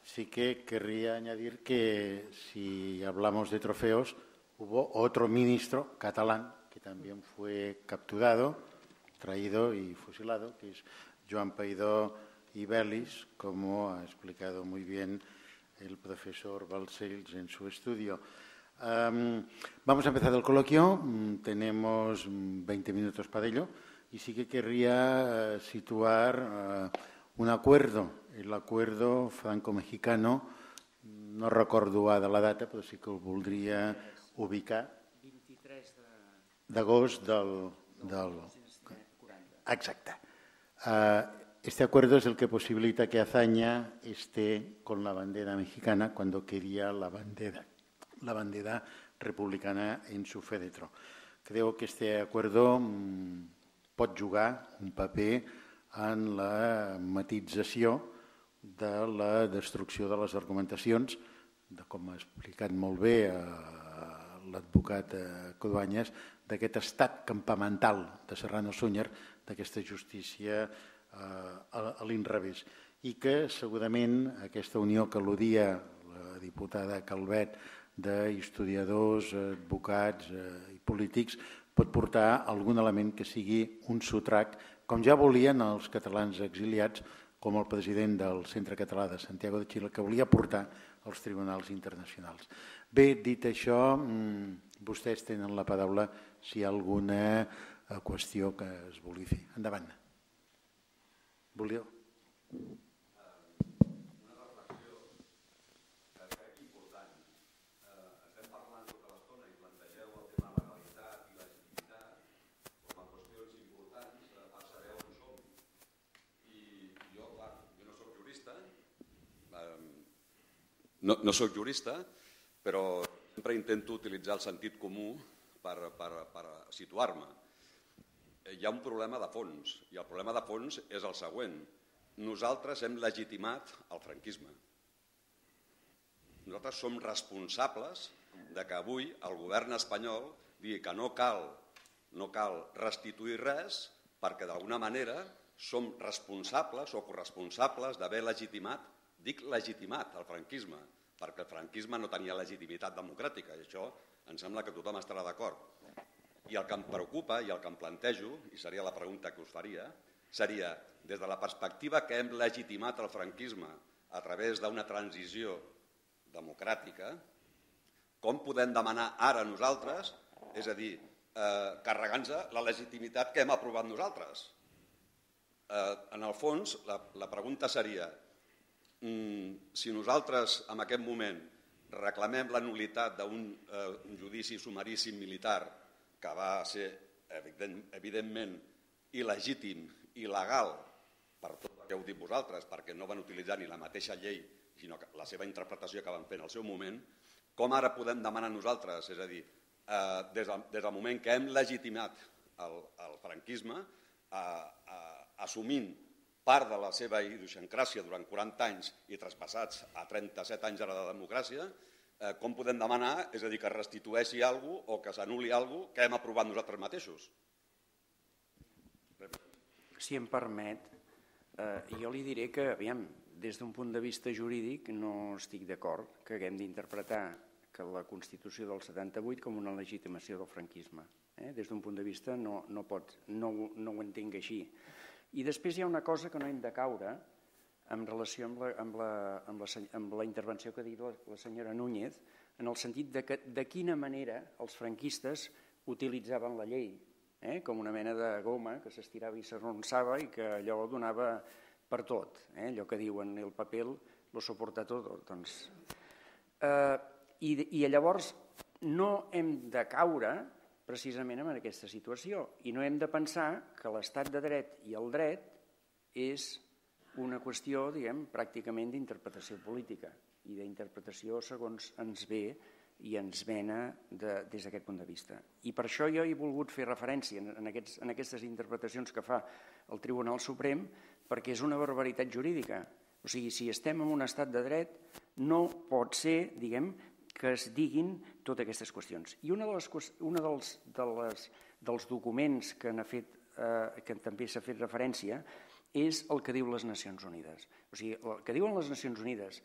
Sí que querría añadir que si hablamos de trofeos, hubo otro ministro catalán que también fue capturado, traído y fusilado, que es Joan Peidó y Belis, como ha explicado muy bien el profesor Balcells en su estudio. Um, vamos a empezar el coloquio. Um, tenemos veinte minutos para ello y sí que querría uh, situar uh, un acuerdo, el acuerdo franco-mexicano. No recordo de la data, però sí que el voldria ubicar. vint-i-tres d'agost del, del... Exacte. Uh, Este acuerdo es el que posibilita que Azaña esté con la bandera mexicana cuando quería la bandera, la bandera republicana en su féretro. Creo que este acuerdo mmm, pot jugar un paper en la matització de la destrucció de les argumentacions, de com ha explicat molt bé eh, l'advocat eh, Cruanyes, d'aquest estat campamental de Serrano Súñer, d'aquesta justícia a l'inrevés, i que segurament aquesta unió que al·ludia la diputada Calvet d'historiadors, advocats i polítics pot portar algun element que sigui un sotrac, com ja volien els catalans exiliats, com el president del Centre Català de Santiago de Xile, que volia portar als tribunals internacionals. Bé, dit això, vostès tenen la paraula si hi ha alguna qüestió que es vulgui fer. Endavant. Volíeu? Una reflexió que crec important. Estem parlant tota l'estona i plantegeu el tema de legalitat i legitimitat com a qüestions importants per saber on som. I jo, clar, jo no soc jurista, no, no soc jurista, però sempre intento utilitzar el sentit comú per, per, per situar-me. Hi ha un problema de fons, i el problema de fons és el següent. Nosaltres hem legitimat el franquisme. Nosaltres som responsables de que avui el govern espanyol digui que no cal, no cal restituir res perquè d'alguna manera som responsables o corresponsables d'haver legitimat, dic legitimat, el franquisme, perquè el franquisme no tenia legitimitat democràtica, i això em sembla que tothom estarà d'acord. I el que em preocupa i el que em plantejo, i seria la pregunta que us faria, seria, des de la perspectiva que hem legitimat el franquisme a través d'una transició democràtica, com podem demanar ara nosaltres, és a dir, eh, carregant-nos la legitimitat que hem aprovat nosaltres? Eh, en el fons, la, la pregunta seria, mm, si nosaltres en aquest moment reclamem la nul·litat d'un eh, judici sumaríssim militar que va ser, evident, evidentment, il·legítim, il·legal, per tot el que heu dit vosaltres, perquè no van utilitzar ni la mateixa llei, sinó que la seva interpretació que van fer en el seu moment, com ara podem demanar nosaltres, és a dir, eh, des, del, des del moment que hem legitimat el, el franquisme, eh, eh, assumint part de la seva idiosincràsia durant quaranta anys i traspassats a trenta-set anys ara de democràcia, eh, com podem demanar, és a dir, que restitueixi alguna cosa o que s'anul·li alguna cosa que hem aprovat nosaltres mateixos? Si em permet, eh, jo li diré que, aviam, des d'un punt de vista jurídic no estic d'acord que haguem d'interpretar que la Constitució del setanta-vuit com una legitimació del franquisme. Eh? Des d'un punt de vista no, no, pot, no, no ho entenc així. I després hi ha una cosa que no hem de caure en relació amb la, amb la, amb la, amb la intervenció que ha dit la, la senyora Núñez, en el sentit de, que, de quina manera els franquistes utilitzaven la llei, eh? com una mena de goma que s'estirava i s'arronsava i que allò donava per tot, eh? allò que diuen el paper lo soporta tot. Doncs, eh, i, I llavors no hem de caure precisament en aquesta situació i no hem de pensar que l'estat de dret i el dret és una qüestió, diguem, pràcticament d'interpretació política i d'interpretació segons ens ve i ens vena de, des d'aquest punt de vista. I per això jo he volgut fer referència en, aquests, en aquestes interpretacions que fa el Tribunal Suprem, perquè és una barbaritat jurídica. O sigui, si estem en un estat de dret, no pot ser, diguem, que es diguin totes aquestes qüestions. I una de les, una dels, de les, dels documents que, fet, eh, que també s'ha fet referència és el que diu les Nacions Unides. O sigui, el que diuen les Nacions Unides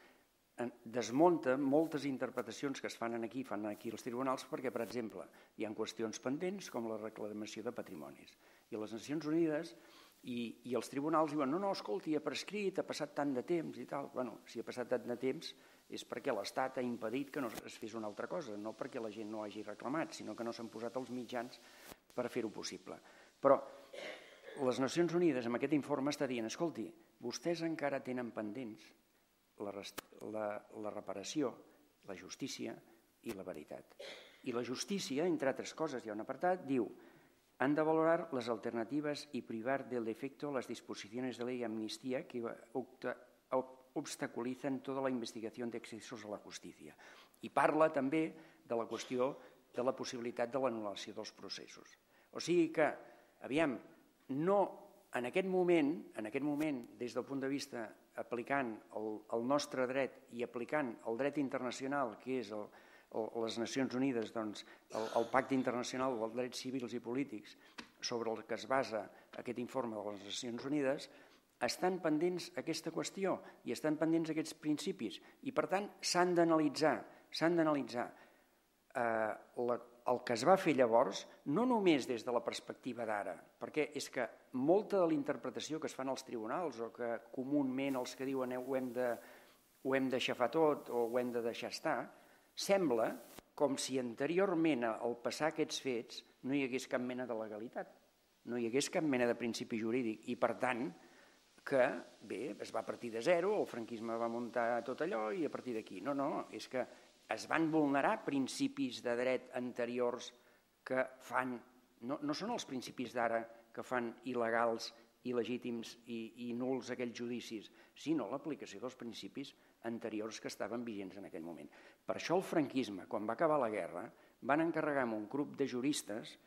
desmunta moltes interpretacions que es fan aquí, fan aquí els tribunals, perquè, per exemple, hi ha qüestions pendents com la reclamació de patrimonis. I les Nacions Unides i, i els tribunals diuen no, no, escolti, ha prescrit, ha passat tant de temps i tal. Bueno, si ha passat tant de temps és perquè l'Estat ha impedit que no es fes una altra cosa, no perquè la gent no hagi reclamat, sinó que no s'han posat els mitjans per fer-ho possible. Però les Nacions Unides amb aquest informe està dient, escolti, vostès encara tenen pendents La, la, la reparació, la justícia i la veritat. I la justícia, entre altres coses, hi ha un apartat, diu han de valorar les alternatives i privar del defecto las disposiciones de ley y amnistía que obstaculizan toda la investigación de excesos a la justícia. I parla també de la qüestió de la possibilitat de l'anul·lació dels processos. O sigui que, aviam, no en aquest moment, en aquest moment, des del punt de vista aplicant el, el nostre dret i aplicant el dret internacional, que és el, el, les Nacions Unides, doncs, el, el Pacte Internacional dels Drets Civils i Polítics, sobre el que es basa aquest informe de les Nacions Unides, estan pendents aquesta qüestió i estan pendents aquests principis i, per tant, s'han d'analitzar, s'han d'analitzar eh, la el que es va fer llavors, no només des de la perspectiva d'ara, perquè és que molta de la interpretació que es fan als tribunals o que comúment els que diuen ho hem de, ho hem d'aixafar tot o ho hem de deixar estar, sembla com si anteriorment al passar aquests fets no hi hagués cap mena de legalitat, no hi hagués cap mena de principi jurídic i, per tant, que bé, es va partir de zero, el franquisme va muntar tot allò i a partir d'aquí. No, no, és que es van vulnerar principis de dret anteriors que fan, no, no són els principis d'ara que fan il·legals, il·legítims i, i nuls aquells judicis, sinó l'aplicació dels principis anteriors que estaven vigents en aquell moment. Per això el franquisme, quan va acabar la guerra, van encarregar a un grup de juristes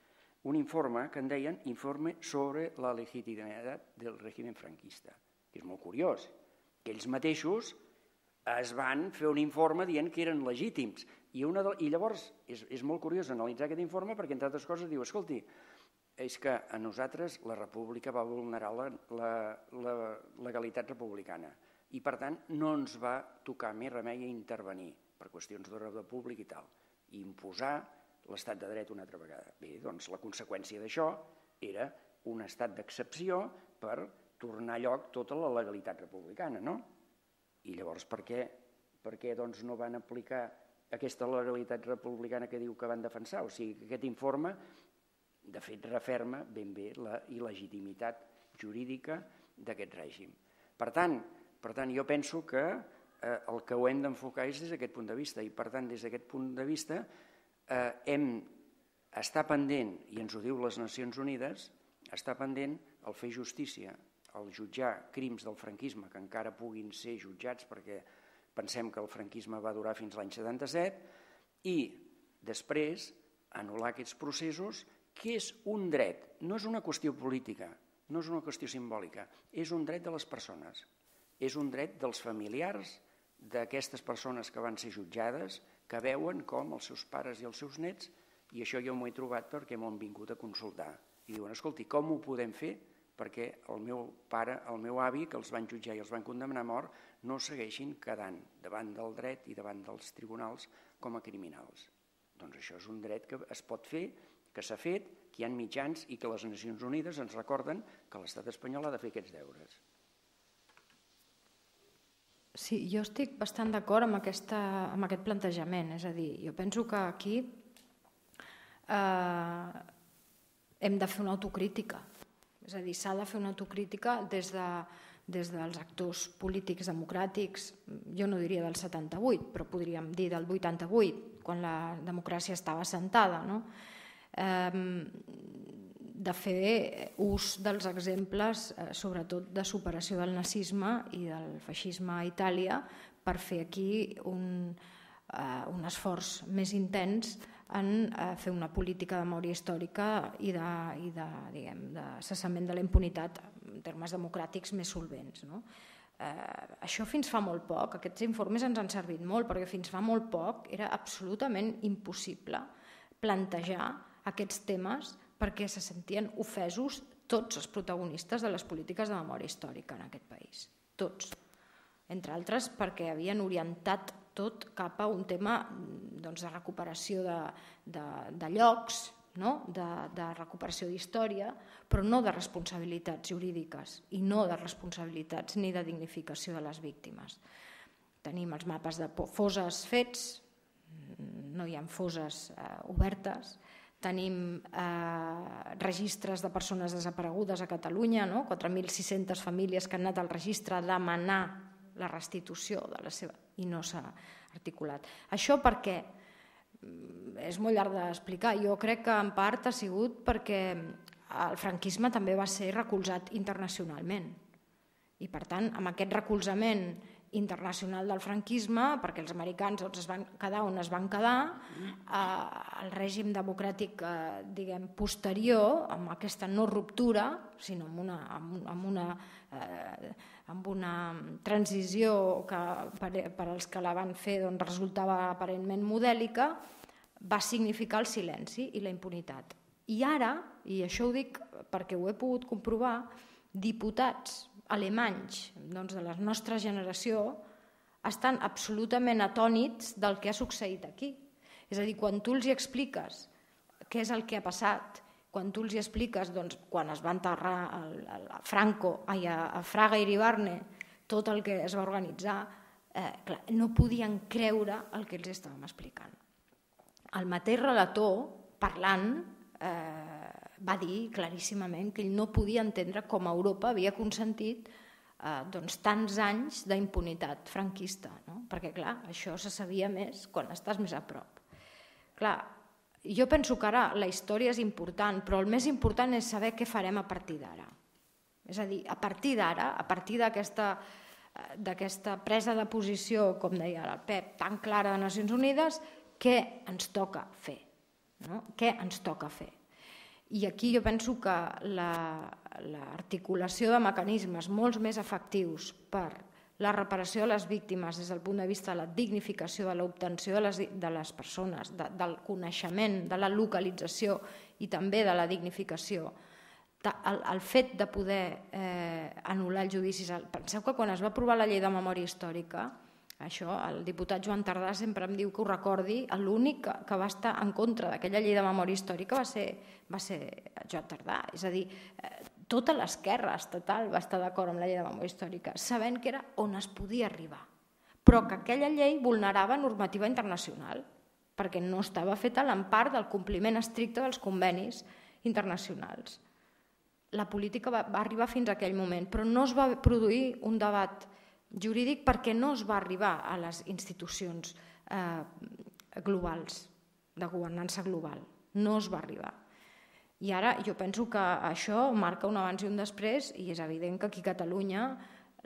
un informe que en deien Informe sobre la legitimitat del règim franquista, que és molt curiós, que ells mateixos es van fer un informe dient que eren legítims. I, una de, i llavors és, és molt curiós analitzar aquest informe perquè, entre altres coses, diu, escolti, és que a nosaltres la república va vulnerar la, la, la legalitat republicana i, per tant, no ens va tocar més remei a intervenir per qüestions d'ordre públic i tal, i imposar l'estat de dret una altra vegada. Bé, doncs la conseqüència d'això era un estat d'excepció per tornar a lloc tota la legalitat republicana, no? I llavors per què, per què doncs, no van aplicar aquesta legalitat republicana que diu que van defensar? O sigui que aquest informe, de fet, referma ben bé la il·legitimitat jurídica d'aquest règim. Per tant, per tant, jo penso que eh, el que ho hem d'enfocar és des d'aquest punt de vista i, per tant, des d'aquest punt de vista eh, hem estar pendent, i ens ho diu les Nacions Unides, estar pendent el fer justícia, el jutjar crims del franquisme que encara puguin ser jutjats perquè pensem que el franquisme va durar fins l'any setanta-set i després anul·lar aquests processos, que és un dret, no és una qüestió política, no és una qüestió simbòlica, és un dret de les persones, és un dret dels familiars d'aquestes persones que van ser jutjades, que veuen com els seus pares i els seus nets, i això jo m'ho he trobat perquè m'ho han vingut a consultar, i diuen, escolti, com ho podem fer perquè el meu pare, el meu avi, que els van jutjar i els van condemnar a mort, no segueixin quedant davant del dret i davant dels tribunals com a criminals. Doncs això és un dret que es pot fer, que s'ha fet, que hi ha mitjans i que les Nacions Unides ens recorden que l'estat espanyol ha de fer aquests deures. Sí, jo estic bastant d'acord amb, aquesta, amb aquest plantejament. És a dir, jo penso que aquí eh, hem de fer una autocrítica. És a dir, s'ha de fer una autocrítica des, de, des dels actors polítics democràtics, jo no diria del setanta-vuit, però podríem dir del vuitanta-vuit, quan la democràcia estava assentada, no? Eh, de fer ús dels exemples, eh, sobretot de superació del nazisme i del feixisme a Itàlia, per fer aquí un, eh, un esforç més intens en eh, fer una política de memòria històrica i de, i de, diguem, de cessament de la impunitat en termes democràtics més solvents. No? Eh, això fins fa molt poc, aquests informes ens han servit molt, perquè fins fa molt poc era absolutament impossible plantejar aquests temes perquè se sentien ofesos tots els protagonistes de les polítiques de memòria històrica en aquest país. Tots. entre altres perquè havien orientat tot cap a un tema doncs, de recuperació de, de, de llocs, no? de, de recuperació d'història, però no de responsabilitats jurídiques i no de responsabilitats ni de dignificació de les víctimes. Tenim els mapes de fosses fets, no hi ha fosses eh, obertes, tenim eh, registres de persones desaparegudes a Catalunya, no? quatre mil sis-centes famílies que han anat al registre a demanar la restitució de la seva i no s'ha articulat. Això perquè és molt llarg d'explicar. Jo crec que en part ha sigut perquè el franquisme també va ser recolzat internacionalment i per tant amb aquest recolzament internacional del franquisme, perquè els americans es van quedar on es van quedar, el règim democràtic diguem, posterior, amb aquesta no ruptura, sinó amb una, amb una, amb una transició que per als que la van fer doncs, resultava aparentment modèlica, va significar el silenci i la impunitat. I ara, i això ho dic perquè ho he pogut comprovar, diputats alemanys doncs, de la nostra generació estan absolutament atònits del que ha succeït aquí. És a dir, quan tu els hi expliques què és el que ha passat, quan tu els hi expliques doncs, quan es va enterrar a Franco, ai, a Fraga i Iribarne, tot el que es va organitzar, eh, clar, no podien creure el que els estàvem explicant. El mateix relator, parlant, eh, va dir claríssimament que ell no podia entendre com Europa havia consentit eh, doncs, tants anys d'impunitat franquista, no? Perquè clar, això se sabia més quan estàs més a prop. Clar, jo penso que ara la història és important, però el més important és saber què farem a partir d'ara. És a dir, a partir d'ara, a partir d'aquesta d'aquesta presa de posició, com deia el Pep, tan clara de Nacions Unides, què ens toca fer? No? Què ens toca fer? I aquí jo penso que l'articulació de mecanismes molt més efectius per la reparació de les víctimes des del punt de vista de la dignificació, de l'obtenció de, de les persones, de, del coneixement, de la localització i també de la dignificació, de, el, el fet de poder eh, anul·lar els judicis. Penseu que quan es va aprovar la llei de memòria històrica, això, el diputat Joan Tardà sempre em diu que ho recordi, l'únic que, que va estar en contra d'aquella llei de memòria històrica va ser, va ser Joan Tardà. És a dir, eh, tota l'esquerra estatal va estar d'acord amb la llei de memòria històrica, sabent que era on es podia arribar, però que aquella llei vulnerava normativa internacional, perquè no estava feta a l'empart del compliment estricte dels convenis internacionals. La política va, va arribar fins a aquell moment, però no es va produir un debat jurídic perquè no es va arribar a les institucions eh, globals, de governança global. No es va arribar. I ara jo penso que això marca un abans i un després i és evident que aquí a Catalunya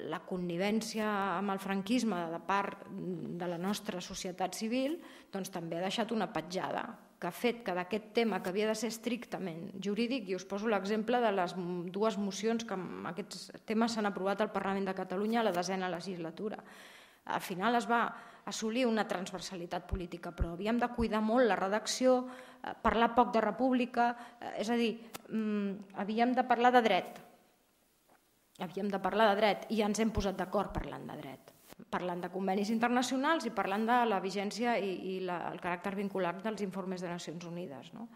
la connivència amb el franquisme de part de la nostra societat civil doncs també ha deixat una petjada que ha fet que d'aquest tema que havia de ser estrictament jurídic, i us poso l'exemple de les dues mocions que amb aquests temes s'han aprovat al Parlament de Catalunya a la desena legislatura. Al final es va assolir una transversalitat política, però havíem de cuidar molt la redacció, parlar poc de república, és a dir, havíem de parlar de dret. Havíem de parlar de dret i ja ens hem posat d'acord parlant de dret. Parlant de convenis internacionals i parlant de la vigència i, i la, el caràcter vinculat dels informes de Nacions Unides. No?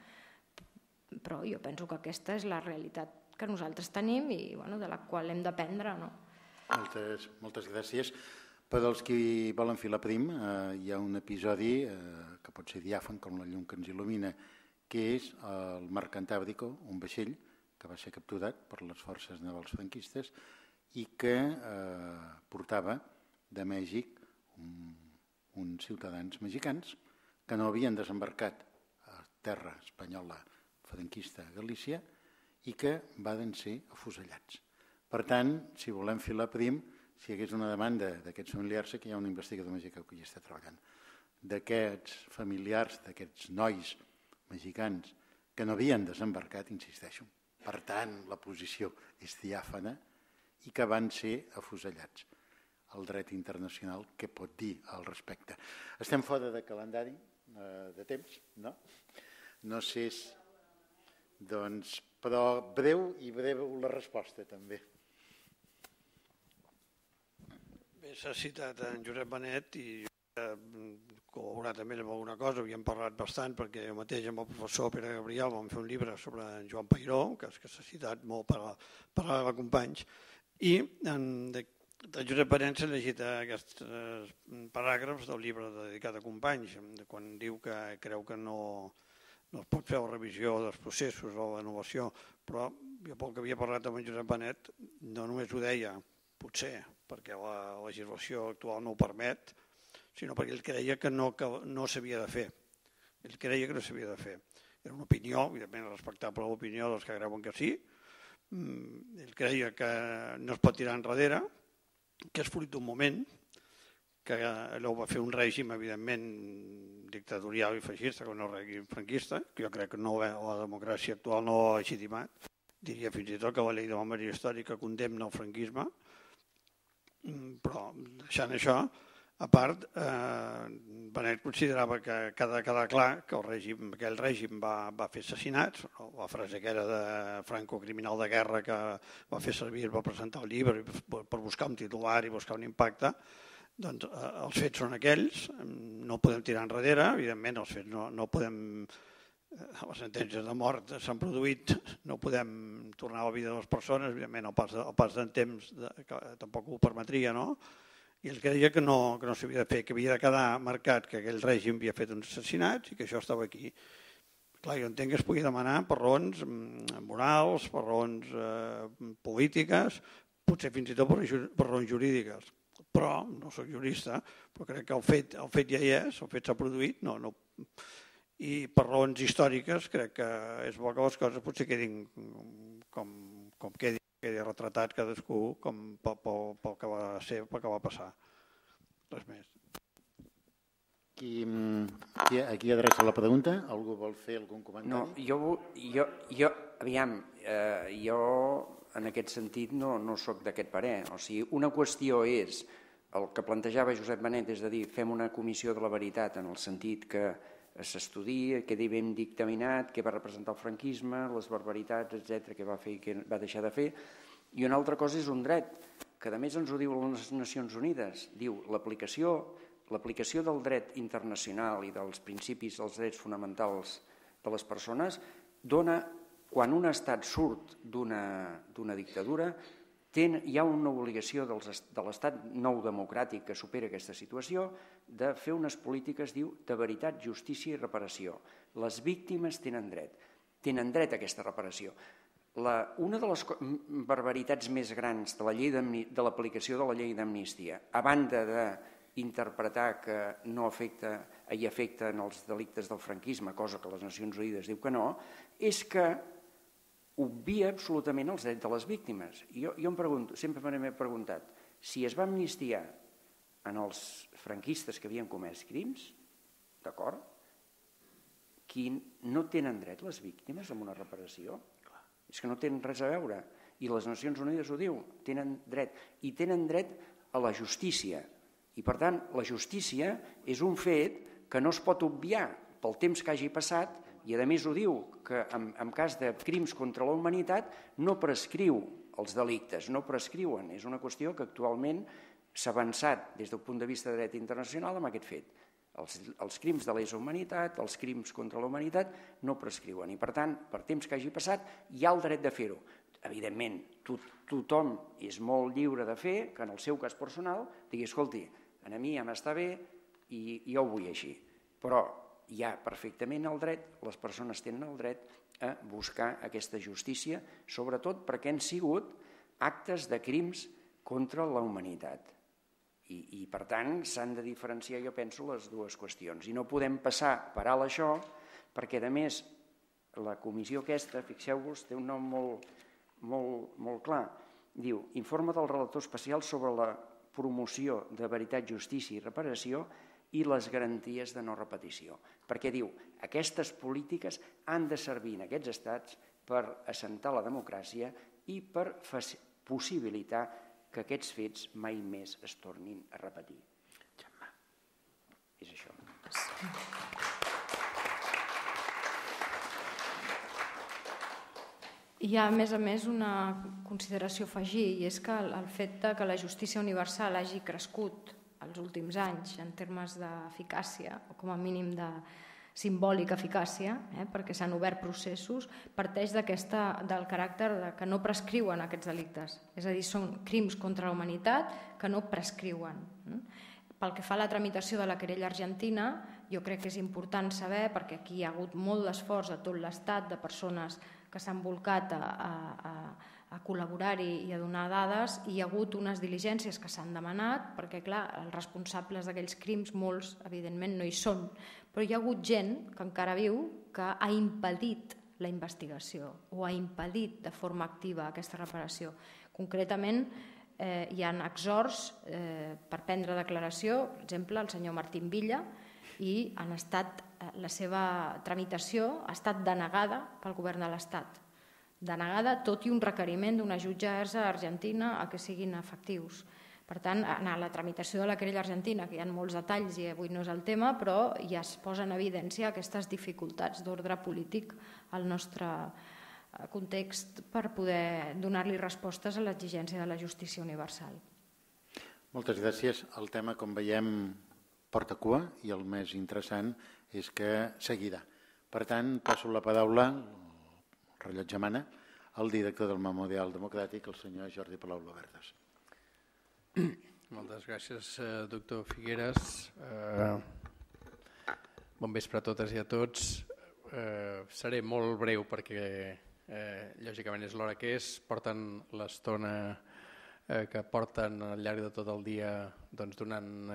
Però jo penso que aquesta és la realitat que nosaltres tenim i bueno, de la qual hem d'aprendre. No? Moltes, moltes gràcies. Per als qui volen filar prim, eh, hi ha un episodi eh, que pot ser diàfan com la llum que ens il·lumina, que és el Mar Cantàbrico, un vaixell que va ser capturat per les forces navals franquistes i que eh, portava de Mèxic un, uns ciutadans mexicans que no havien desembarcat a terra espanyola franquista a Galícia i que van ser afusellats. Per tant, si volem filar prim, si hi hagués una demanda d'aquests familiars, que hi ha un investigador mexicà que hi està treballant, d'aquests familiars, d'aquests nois mexicans que no havien desembarcat, insisteixo, per tant, la posició és diàfana i que van ser afusellats. El dret internacional, què pot dir al respecte? Estem fora de calendari, eh, de temps, no? No sé si... Doncs, però breu i breu la resposta, també. Bé, s'ha citat en Josep Benet i col·laborar també amb alguna cosa, havíem parlat bastant perquè jo mateix amb el professor Pere Gabriel vam fer un llibre sobre en Joan Peiró, que s'ha citat molt per a companys, i de Josep Benet s'ha llegit aquests paràgrafs del llibre dedicat a companys, quan diu que creu que no es pot fer la revisió dels processos o la innovació, però jo pel que havia parlat amb en Josep Benet no només ho deia, potser perquè la legislació actual no ho permet, sinó perquè ell creia que no s'havia de fer. Ell creia que no s'havia de fer. Era una opinió, evidentment respectable l'opinió dels que creuen que sí. Ell creia que no es pot tirar enrere, que és fruit d'un moment, que allò va fer un règim, evidentment, dictatorial i feixista, com no règim franquista, que jo crec que la democràcia actual no ho ha legitimat. Diria fins i tot que la llei de memòria històrica condemna el franquisme, però deixant això, a part, Benet considerava que ha de quedar clar que aquell règim va fer assassinats, la frase que era de Franco, criminal de guerra, que va fer servir per presentar el llibre, per buscar un titular i buscar un impacte, doncs els fets són aquells, no podem tirar enrere, evidentment els fets no podem, les sentències de mort s'han produït, no podem tornar a la vida de les persones, evidentment el pas del temps tampoc ho permetria, no? I ell creia que no s'havia de fer, que havia de quedar marcat que aquell règim havia fet uns assassinats i que això estava aquí. Clar, jo entenc que es pugui demanar per raons morals, per raons polítiques, potser fins i tot per raons jurídiques. Però, no soc jurista, però crec que el fet ja hi és, el fet s'ha produït, no. I per raons històriques crec que és bo que les coses potser quedin com quedi. Quedi retratat cadascú pel que va ser, pel que va passar. Res més. A qui adreça la pregunta? Algú vol fer algun comentari? No, jo, aviam, jo en aquest sentit no soc d'aquest parer. O sigui, una qüestió és el que plantejava Josep Benet, és a dir, fem una comissió de la veritat en el sentit que s'estudia, quedi ben dictaminat, què va representar el franquisme, les barbaritats, etcètera, què va fer i què va deixar de fer. I una altra cosa és un dret, que a més ens ho diu les Nacions Unides. Diu, l'aplicació del dret internacional i dels principis dels drets fonamentals de les persones dona, quan un estat surt d'una dictadura, hi ha una obligació de l'estat nou democràtic que supera aquesta situació de fer unes polítiques, diu, de veritat, justícia i reparació. Les víctimes tenen dret, tenen dret a aquesta reparació. Una de les barbaritats més grans de l'aplicació de la llei d'amnistia, a banda d'interpretar que no hi afecten els delictes del franquisme, cosa que les Nacions Unides diu que no, és que obvia absolutament els drets de les víctimes. Jo em pregunto, sempre m'he preguntat, si es va amnistiar en els franquistes que havien comès crims, d'acord, no tenen dret les víctimes a una reparació? És que no tenen res a veure. I les Nacions Unides ho diu, tenen dret. I tenen dret a la justícia. I per tant, la justícia és un fet que no es pot obviar pel temps que hagi passat. I a més ho diu, que en cas de crims contra la humanitat no prescriu els delictes, no prescriuen. És una qüestió que actualment s'ha avançat des del punt de vista de dret internacional amb aquest fet. Els crims de lesa humanitat, els crims contra la humanitat no prescriuen. I per tant, per temps que hagi passat, hi ha el dret de fer-ho. Evidentment, tothom és molt lliure de fer que en el seu cas personal digui, escolti, a mi ja m'està bé i jo ho vull així. Però hi ha perfectament el dret, les persones tenen el dret a buscar aquesta justícia, sobretot perquè han sigut actes de crims contra la humanitat. I per tant s'han de diferenciar, jo penso, les dues qüestions. I no podem passar per alt això, perquè a més la comissió aquesta, fixeu-vos, té un nom molt clar. Diu, informe del relator especial sobre la promoció de veritat, justícia i reparació i les garanties de no repetició. Perquè diu, aquestes polítiques han de servir en aquests estats per assentar la democràcia i per possibilitar que aquests fets mai més es tornin a repetir. És això. Hi ha, a més a més, una consideració a afegir, i és que el fet que la justícia universal hagi crescut els últims anys en termes d'eficàcia, o com a mínim de simbòlica eficàcia, eh, perquè s'han obert processos, parteix del caràcter de que no prescriuen aquests delictes. És a dir, són crims contra la humanitat que no prescriuen. Pel que fa a la tramitació de la querella argentina, jo crec que és important saber, perquè aquí hi ha hagut molt d'esforç de tot l'Estat, de persones que s'han volcat a, a, a col·laborar-hi i a donar dades, i hi ha hagut unes diligències que s'han demanat, perquè clar, els responsables d'aquells crims, molts evidentment no hi són, però hi ha hagut gent que encara viu que ha impedit la investigació o ha impedit de forma activa aquesta reparació. Concretament, eh, hi ha exhorts eh, per prendre declaració, per exemple, el senyor Martín Villa, i han estat, la seva tramitació ha estat denegada pel govern de l'Estat. Denegada, tot i un requeriment d'una jutgessa argentina a que siguin efectius. Per tant, en la tramitació de la querella argentina, que hi ha molts detalls i avui no és el tema, però ja es posa en evidència aquestes dificultats d'ordre polític al nostre context per poder donar-li respostes a l'exigència de la justícia universal. Moltes gràcies. El tema, com veiem, porta cua, i el més interessant és que seguirà. Per tant, passo la paraula, el rellotge mana, al director del Memorial Democràtic, el senyor Jordi Palau Lobertas. Moltes gràcies, doctor Figueres. Bon vespre a totes i a tots. Seré molt breu perquè, lògicament, és l'hora que és. Porten l'estona que porten al llarg de tot el dia donant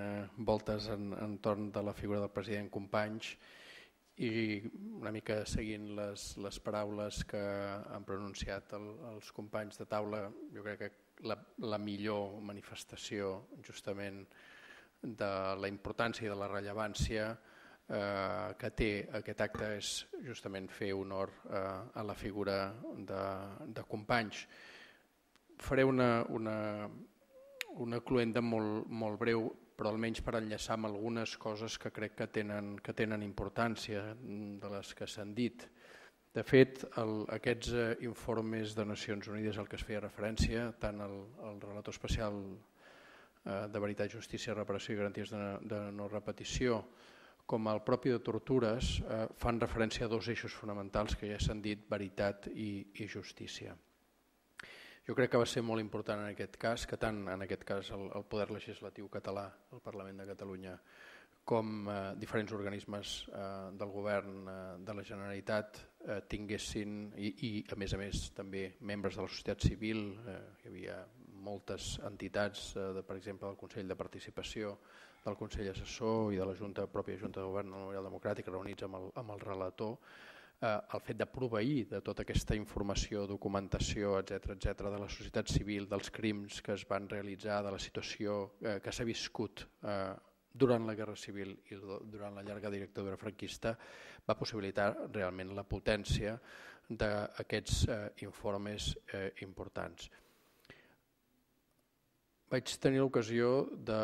voltes entorn de la figura del president Companys i una mica seguint les paraules que han pronunciat els companys de taula. Jo crec que la millor manifestació justament de la importància i de la rellevància que té aquest acte és justament fer honor a la figura de Companys. Faré una, una, una cluenda molt, molt breu, però almenys per enllaçar amb algunes coses que crec que tenen, que tenen importància de les que s'han dit. De fet, el, aquests eh, informes de Nacions Unides al que es feia referència, tant el, el relator especial eh, de Veritat, Justícia, Reparació i Garanties de, de no repetició, com el propi de Tortures, eh, fan referència a dos eixos fonamentals que ja s'han dit, veritat i, i justícia. Jo crec que va ser molt important en aquest cas, que tant en aquest cas el, el Poder Legislatiu català, el Parlament de Catalunya, com eh, diferents organismes eh, del govern eh, de la Generalitat eh, tinguessin, i, i a més a més també membres de la societat civil, eh, hi havia moltes entitats, eh, de, per exemple del Consell de Participació, del Consell Assessor i de la Junta, pròpia Junta de Govern del Memorial Democràtic, reunits amb el, amb el relator, el fet de proveir de tota aquesta informació, documentació, etcètera, etcètera, de la societat civil, dels crims que es van realitzar, de la situació que s'ha viscut durant la Guerra Civil i durant la llarga dictadura franquista, va possibilitar realment la potència d'aquests informes importants. Vaig tenir l'ocasió de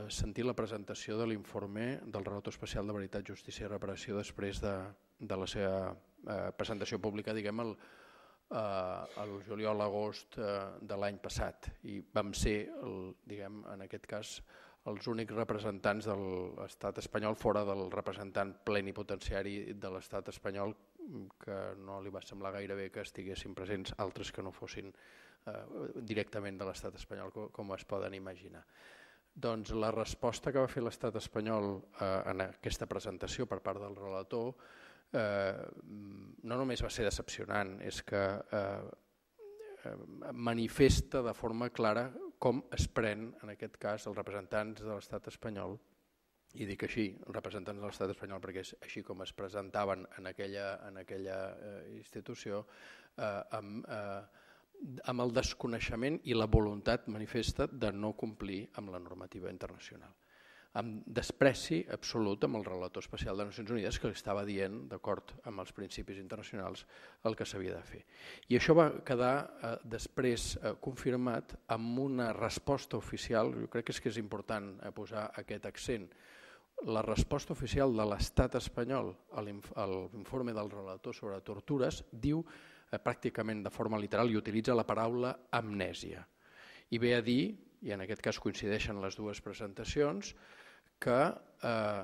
sentir la presentació de l'informe del relator especial de Veritat, Justícia i Reparació després de de la seva eh, presentació pública, diguem, el, eh, el juliol-agost eh, de l'any passat. I vam ser, el, diguem, en aquest cas, els únics representants de l'estat espanyol fora del representant plenipotenciari de l'estat espanyol, que no li va semblar gaire bé que estiguessin presents altres que no fossin eh, directament de l'estat espanyol, com, com es poden imaginar. Doncs la resposta que va fer l'estat espanyol eh, en aquesta presentació per part del relator Eh, no només va ser decepcionant, és que eh, manifesta de forma clara com es pren, en aquest cas, els representants de l'estat espanyol, i dic així, els representants de l'estat espanyol, perquè és així com es presentaven en aquella, en aquella eh, institució, eh, amb, eh, amb el desconeixement i la voluntat manifesta de no complir amb la normativa internacional, amb despreci absolut amb el relator especial de Nacions Unides que li estava dient, d'acord amb els principis internacionals, el que s'havia de fer. I això va quedar eh, després eh, confirmat amb una resposta oficial, jo crec que és, que és important eh, posar aquest accent, la resposta oficial de l'estat espanyol a l'informe del relator sobre tortures diu pràcticament de forma literal i utilitza la paraula amnèsia. I ve a dir, i en aquest cas coincideixen les dues presentacions, que eh,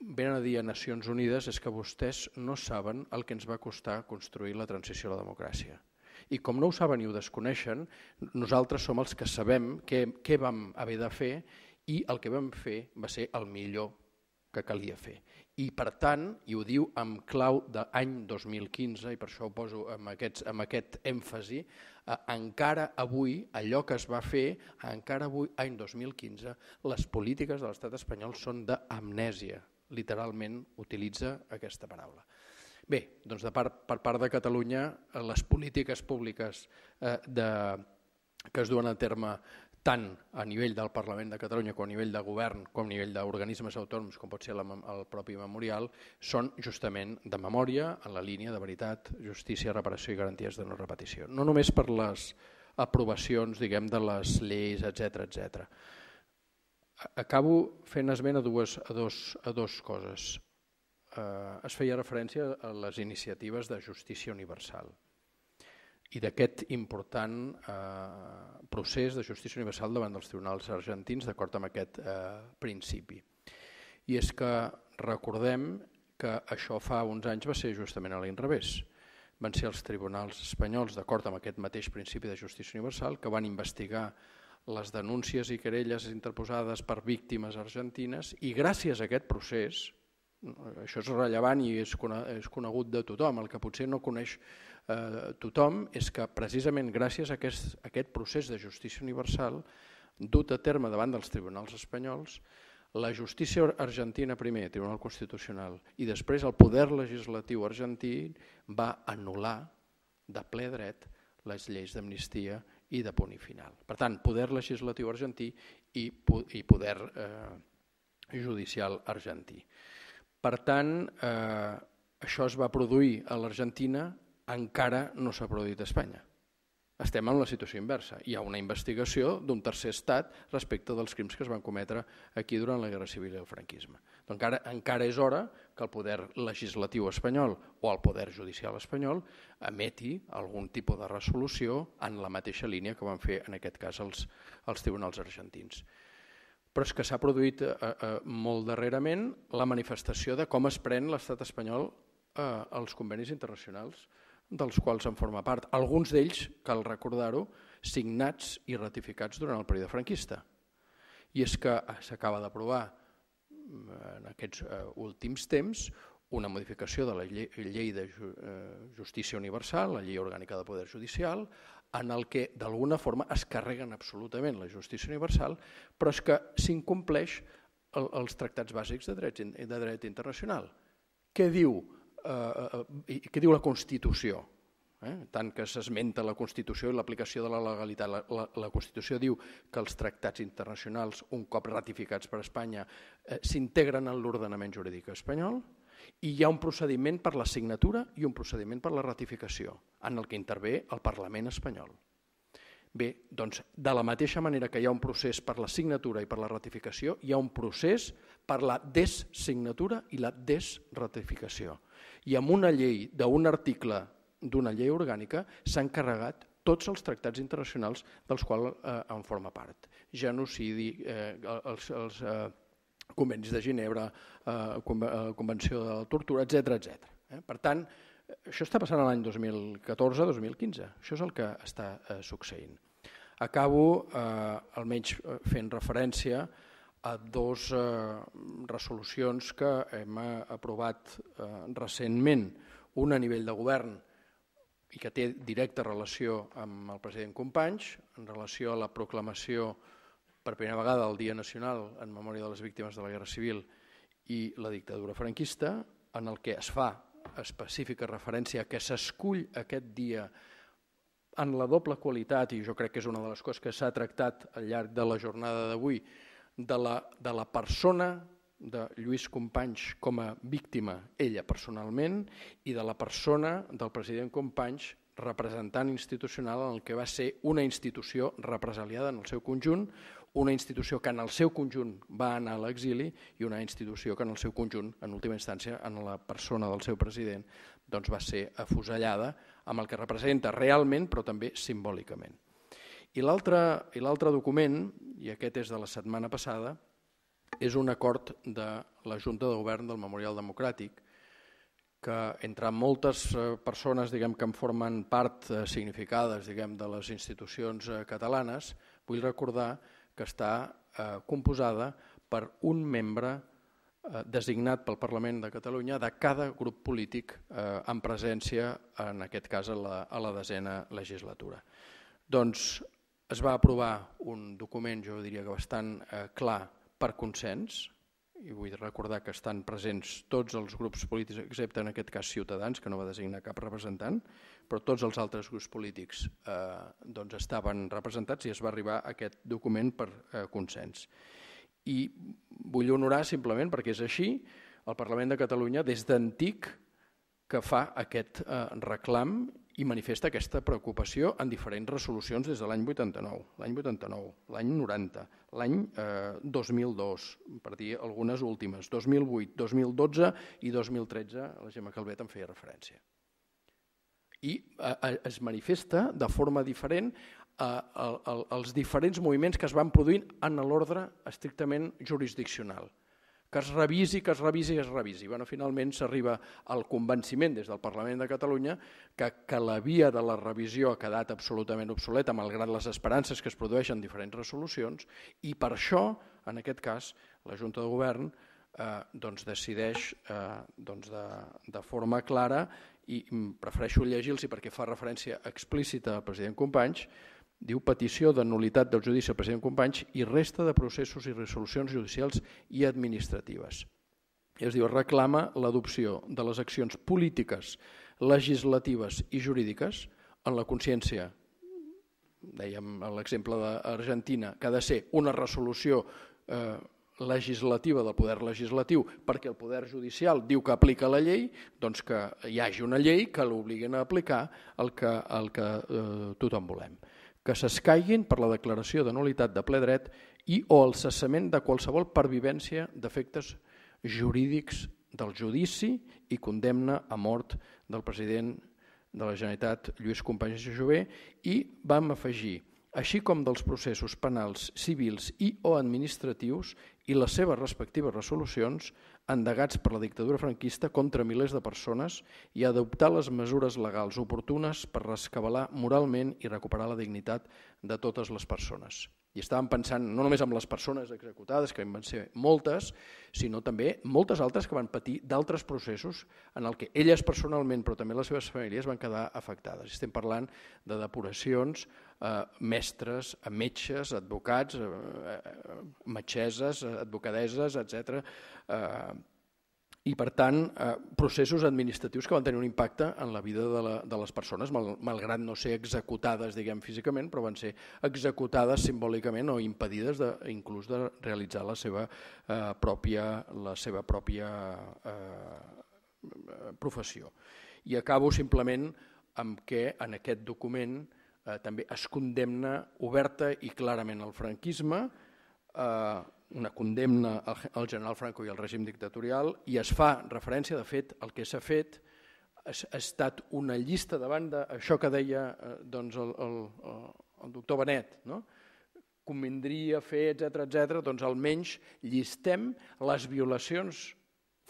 venen a dir a Nacions Unides és que vostès no saben el que ens va costar construir la transició a la democràcia. I com no ho saben i ho desconeixen, nosaltres som els que sabem què, què vam haver de fer i el que vam fer va ser el millor que calia fer. I per tant, i ho diu amb clau d'any dos mil quinze, i per això ho poso amb, aquests, amb aquest èmfasi, eh, encara avui, allò que es va fer, encara avui, any dos mil quinze, les polítiques de l'estat espanyol són d'amnèsia. Literalment utilitza aquesta paraula. Bé, doncs de part, per part de Catalunya, les polítiques públiques eh, de, que es duen a terme tant a nivell del Parlament de Catalunya com a nivell de govern, com a nivell d'organismes autònoms, com pot ser la, el propi memorial, són justament de memòria en la línia de veritat, justícia, reparació i garanties de no repetició. No només per les aprovacions, diguem, de les lleis, etcètera, etcètera. Acabo fent esment a dues, a dos, a dos coses. Eh, es feia referència a les iniciatives de justícia universal i d'aquest important eh, procés de justícia universal davant dels tribunals argentins d'acord amb aquest eh, principi. I és que recordem que això fa uns anys va ser justament a l'inrevés. Van ser els tribunals espanyols, d'acord amb aquest mateix principi de justícia universal, que van investigar les denúncies i querelles interposades per víctimes argentines i gràcies a aquest procés, això és rellevant i és conegut de tothom, el que potser no coneix eh, tothom és que precisament gràcies a aquest, a aquest procés de justícia universal dut a terme davant dels tribunals espanyols, la justícia argentina primer, Tribunal Constitucional, i després el poder legislatiu argentí va anul·lar de ple dret les lleis d'amnistia i de punt i final. Per tant, poder legislatiu argentí i, i poder eh, judicial argentí. Per tant, eh, això es va produir a l'Argentina, encara no s'ha produït a Espanya. Estem en la situació inversa. Hi ha una investigació d'un tercer estat respecte dels crims que es van cometre aquí durant la Guerra Civil i el franquisme. Doncs encara, encara és hora que el poder legislatiu espanyol o el poder judicial espanyol emeti algun tipus de resolució en la mateixa línia que van fer en aquest cas els, els tribunals argentins. Però és que s'ha produït eh, eh, molt darrerament la manifestació de com es pren l'estat espanyol eh, als convenis internacionals dels quals en forma part. Alguns d'ells, cal recordar-ho, signats i ratificats durant el període franquista. I és que s'acaba d'aprovar en aquests eh, últims temps una modificació de la llei, llei de eh, justícia universal, la llei orgànica de poder judicial, en el que d'alguna forma es carreguen absolutament la justícia universal, però és que s'incompleix el, els tractats bàsics de dret, de dret internacional. Què diu, eh, què diu la Constitució? Eh? Tant que s'esmenta la Constitució i l'aplicació de la legalitat. La, la, la Constitució diu que els tractats internacionals, un cop ratificats per Espanya, eh, s'integren en l'ordenament jurídic espanyol, i hi ha un procediment per la signatura i un procediment per la ratificació, en el que intervé el Parlament espanyol. Bé, doncs, de la mateixa manera que hi ha un procés per la signatura i per la ratificació, hi ha un procés per la dessignatura i la desratificació. I amb una llei d'un article d'una llei orgànica s'han carregat tots els tractats internacionals dels quals eh, en forma part. Genocidi, eh, els... els eh, convenis de Ginebra, eh, Convenció de la Tortura, etcètera, etcètera. Eh? Per tant, això està passant l'any dos mil catorze dos mil quinze. Això és el que està eh, succeint. Acabo eh, almenys fent referència a dues eh, resolucions que hem aprovat eh, recentment, una a nivell de govern i que té directa relació amb el president Companys, en relació a la proclamació per primera vegada el Dia Nacional en memòria de les víctimes de la Guerra Civil i la dictadura franquista, en el que es fa específica referència que s'escull aquest dia en la doble qualitat, i jo crec que és una de les coses que s'ha tractat al llarg de la jornada d'avui, de la, de la persona de Lluís Companys com a víctima, ella personalment, i de la persona del president Companys representant institucional en el que va ser una institució represaliada en el seu conjunt, una institució que en el seu conjunt va anar a l'exili i una institució que en el seu conjunt, en última instància, en la persona del seu president, doncs va ser afusellada amb el que representa realment, però també simbòlicament. I l'altre document, i aquest és de la setmana passada, és un acord de la Junta de Govern del Memorial Democràtic, que entre moltes persones diguem, que en formen part significades diguem, de les institucions catalanes, vull recordar que està eh, composada per un membre eh, designat pel Parlament de Catalunya de cada grup polític eh, en presència, en aquest cas a la, a la desena legislatura. Doncs es va aprovar un document, jo diria que bastant eh, clar per consens, i vull recordar que estan presents tots els grups polítics, excepte en aquest cas Ciutadans, que no va designar cap representant, però tots els altres grups polítics eh, doncs estaven representats i es va arribar a aquest document per eh, consens. I vull honorar simplement, perquè és així, el Parlament de Catalunya des d'antic que fa aquest eh, reclam i manifesta aquesta preocupació en diferents resolucions des de l'any vuitanta-nou, l'any vuitanta-nou, l'any noranta, l'any eh, dos mil dos, per dir algunes últimes, dos mil vuit, dos mil dotze i dos mil tretze, la Gemma Calvet en feia referència. I eh, es manifesta de forma diferent eh, el, el, els diferents moviments que es van produint en l'ordre estrictament jurisdiccional. Que es revisi, que es revisi, que es revisi. Bueno, finalment s'arriba al convenciment des del Parlament de Catalunya que, que la via de la revisió ha quedat absolutament obsoleta, malgrat les esperances que es produeixen en diferents resolucions, i per això, en aquest cas, la Junta de Govern eh, doncs decideix eh, doncs de, de forma clara, i prefereixo llegir-los perquè fa referència explícita al president Companys, diu petició de nul·litat del judici al president Companys i resta de processos i resolucions judicials i administratives. Es diu, reclama l'adopció de les accions polítiques, legislatives i jurídiques en la consciència, dèiem l'exemple d'Argentina, que ha de ser una resolució eh, legislativa del poder legislatiu perquè el poder judicial diu que aplica la llei, doncs que hi hagi una llei que l'obliguin a aplicar el que, el que eh, tothom volem. Que s'escaiguin per la declaració de nul·litat de ple dret i o el cessament de qualsevol pervivència d'efectes jurídics del judici i condemna a mort del president de la Generalitat, Lluís Companys i Jover, i vam afegir, així com dels processos penals, civils i o administratius i les seves respectives resolucions endegats per la dictadura franquista contra milers de persones i adoptar les mesures legals oportunes per rescabalar moralment i recuperar la dignitat de totes les persones. I estàvem pensant no només en les persones executades, que van ser moltes, sinó també moltes altres que van patir d'altres processos en el que elles personalment, però també les seves famílies, van quedar afectades. Estem parlant de depuracions, eh, mestres, metges, advocats, eh, metgesses, advocadeses, etcètera. Eh, I, per tant, eh, processos administratius que van tenir un impacte en la vida de, la, de les persones, mal, malgrat no ser executades, diguem, físicament, però van ser executades simbòlicament o impedides de, inclús de realitzar la seva eh, pròpia, la seva pròpia eh, professió. I acabo simplement amb que en aquest document eh, també es condemna oberta i clarament el franquisme, eh, una condemna al general Franco i al règim dictatorial, i es fa referència, de fet, el que s'ha fet ha estat una llista davant d'això que deia doncs, el, el, el doctor Benet, no? Convindria fer, etcètera, etcètera, doncs almenys llistem les violacions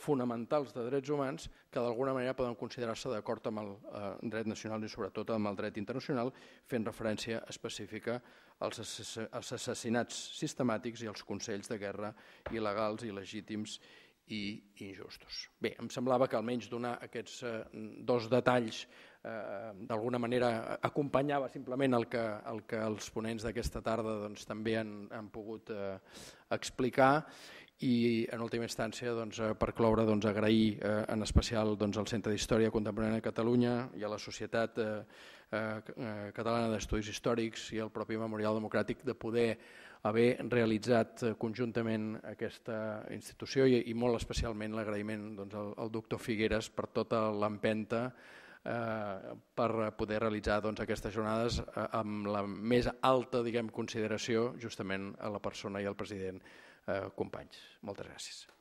fonamentals de drets humans que d'alguna manera poden considerar-se d'acord amb el eh, dret nacional i sobretot amb el dret internacional, fent referència específica als, als assassinats sistemàtics i als consells de guerra il·legals, il·legítims i injustos. Bé, em semblava que almenys donar aquests eh, dos detalls eh, d'alguna manera acompanyava simplement el que, el que els ponents d'aquesta tarda doncs, també han, han pogut eh, explicar. I en última instància, doncs, per cloure, doncs, agrair eh, en especial doncs, al Centre d'Història Contemporània de Catalunya i a la Societat eh, eh, Catalana d'Estudis Històrics i al propi Memorial Democràtic de poder haver realitzat conjuntament aquesta institució i, i molt especialment l'agraïment doncs, al, al doctor Figueres per tota l'empenta eh, per poder realitzar doncs, aquestes jornades eh, amb la més alta diguem, consideració justament a la persona i al president eh, Companys. Moltes gràcies.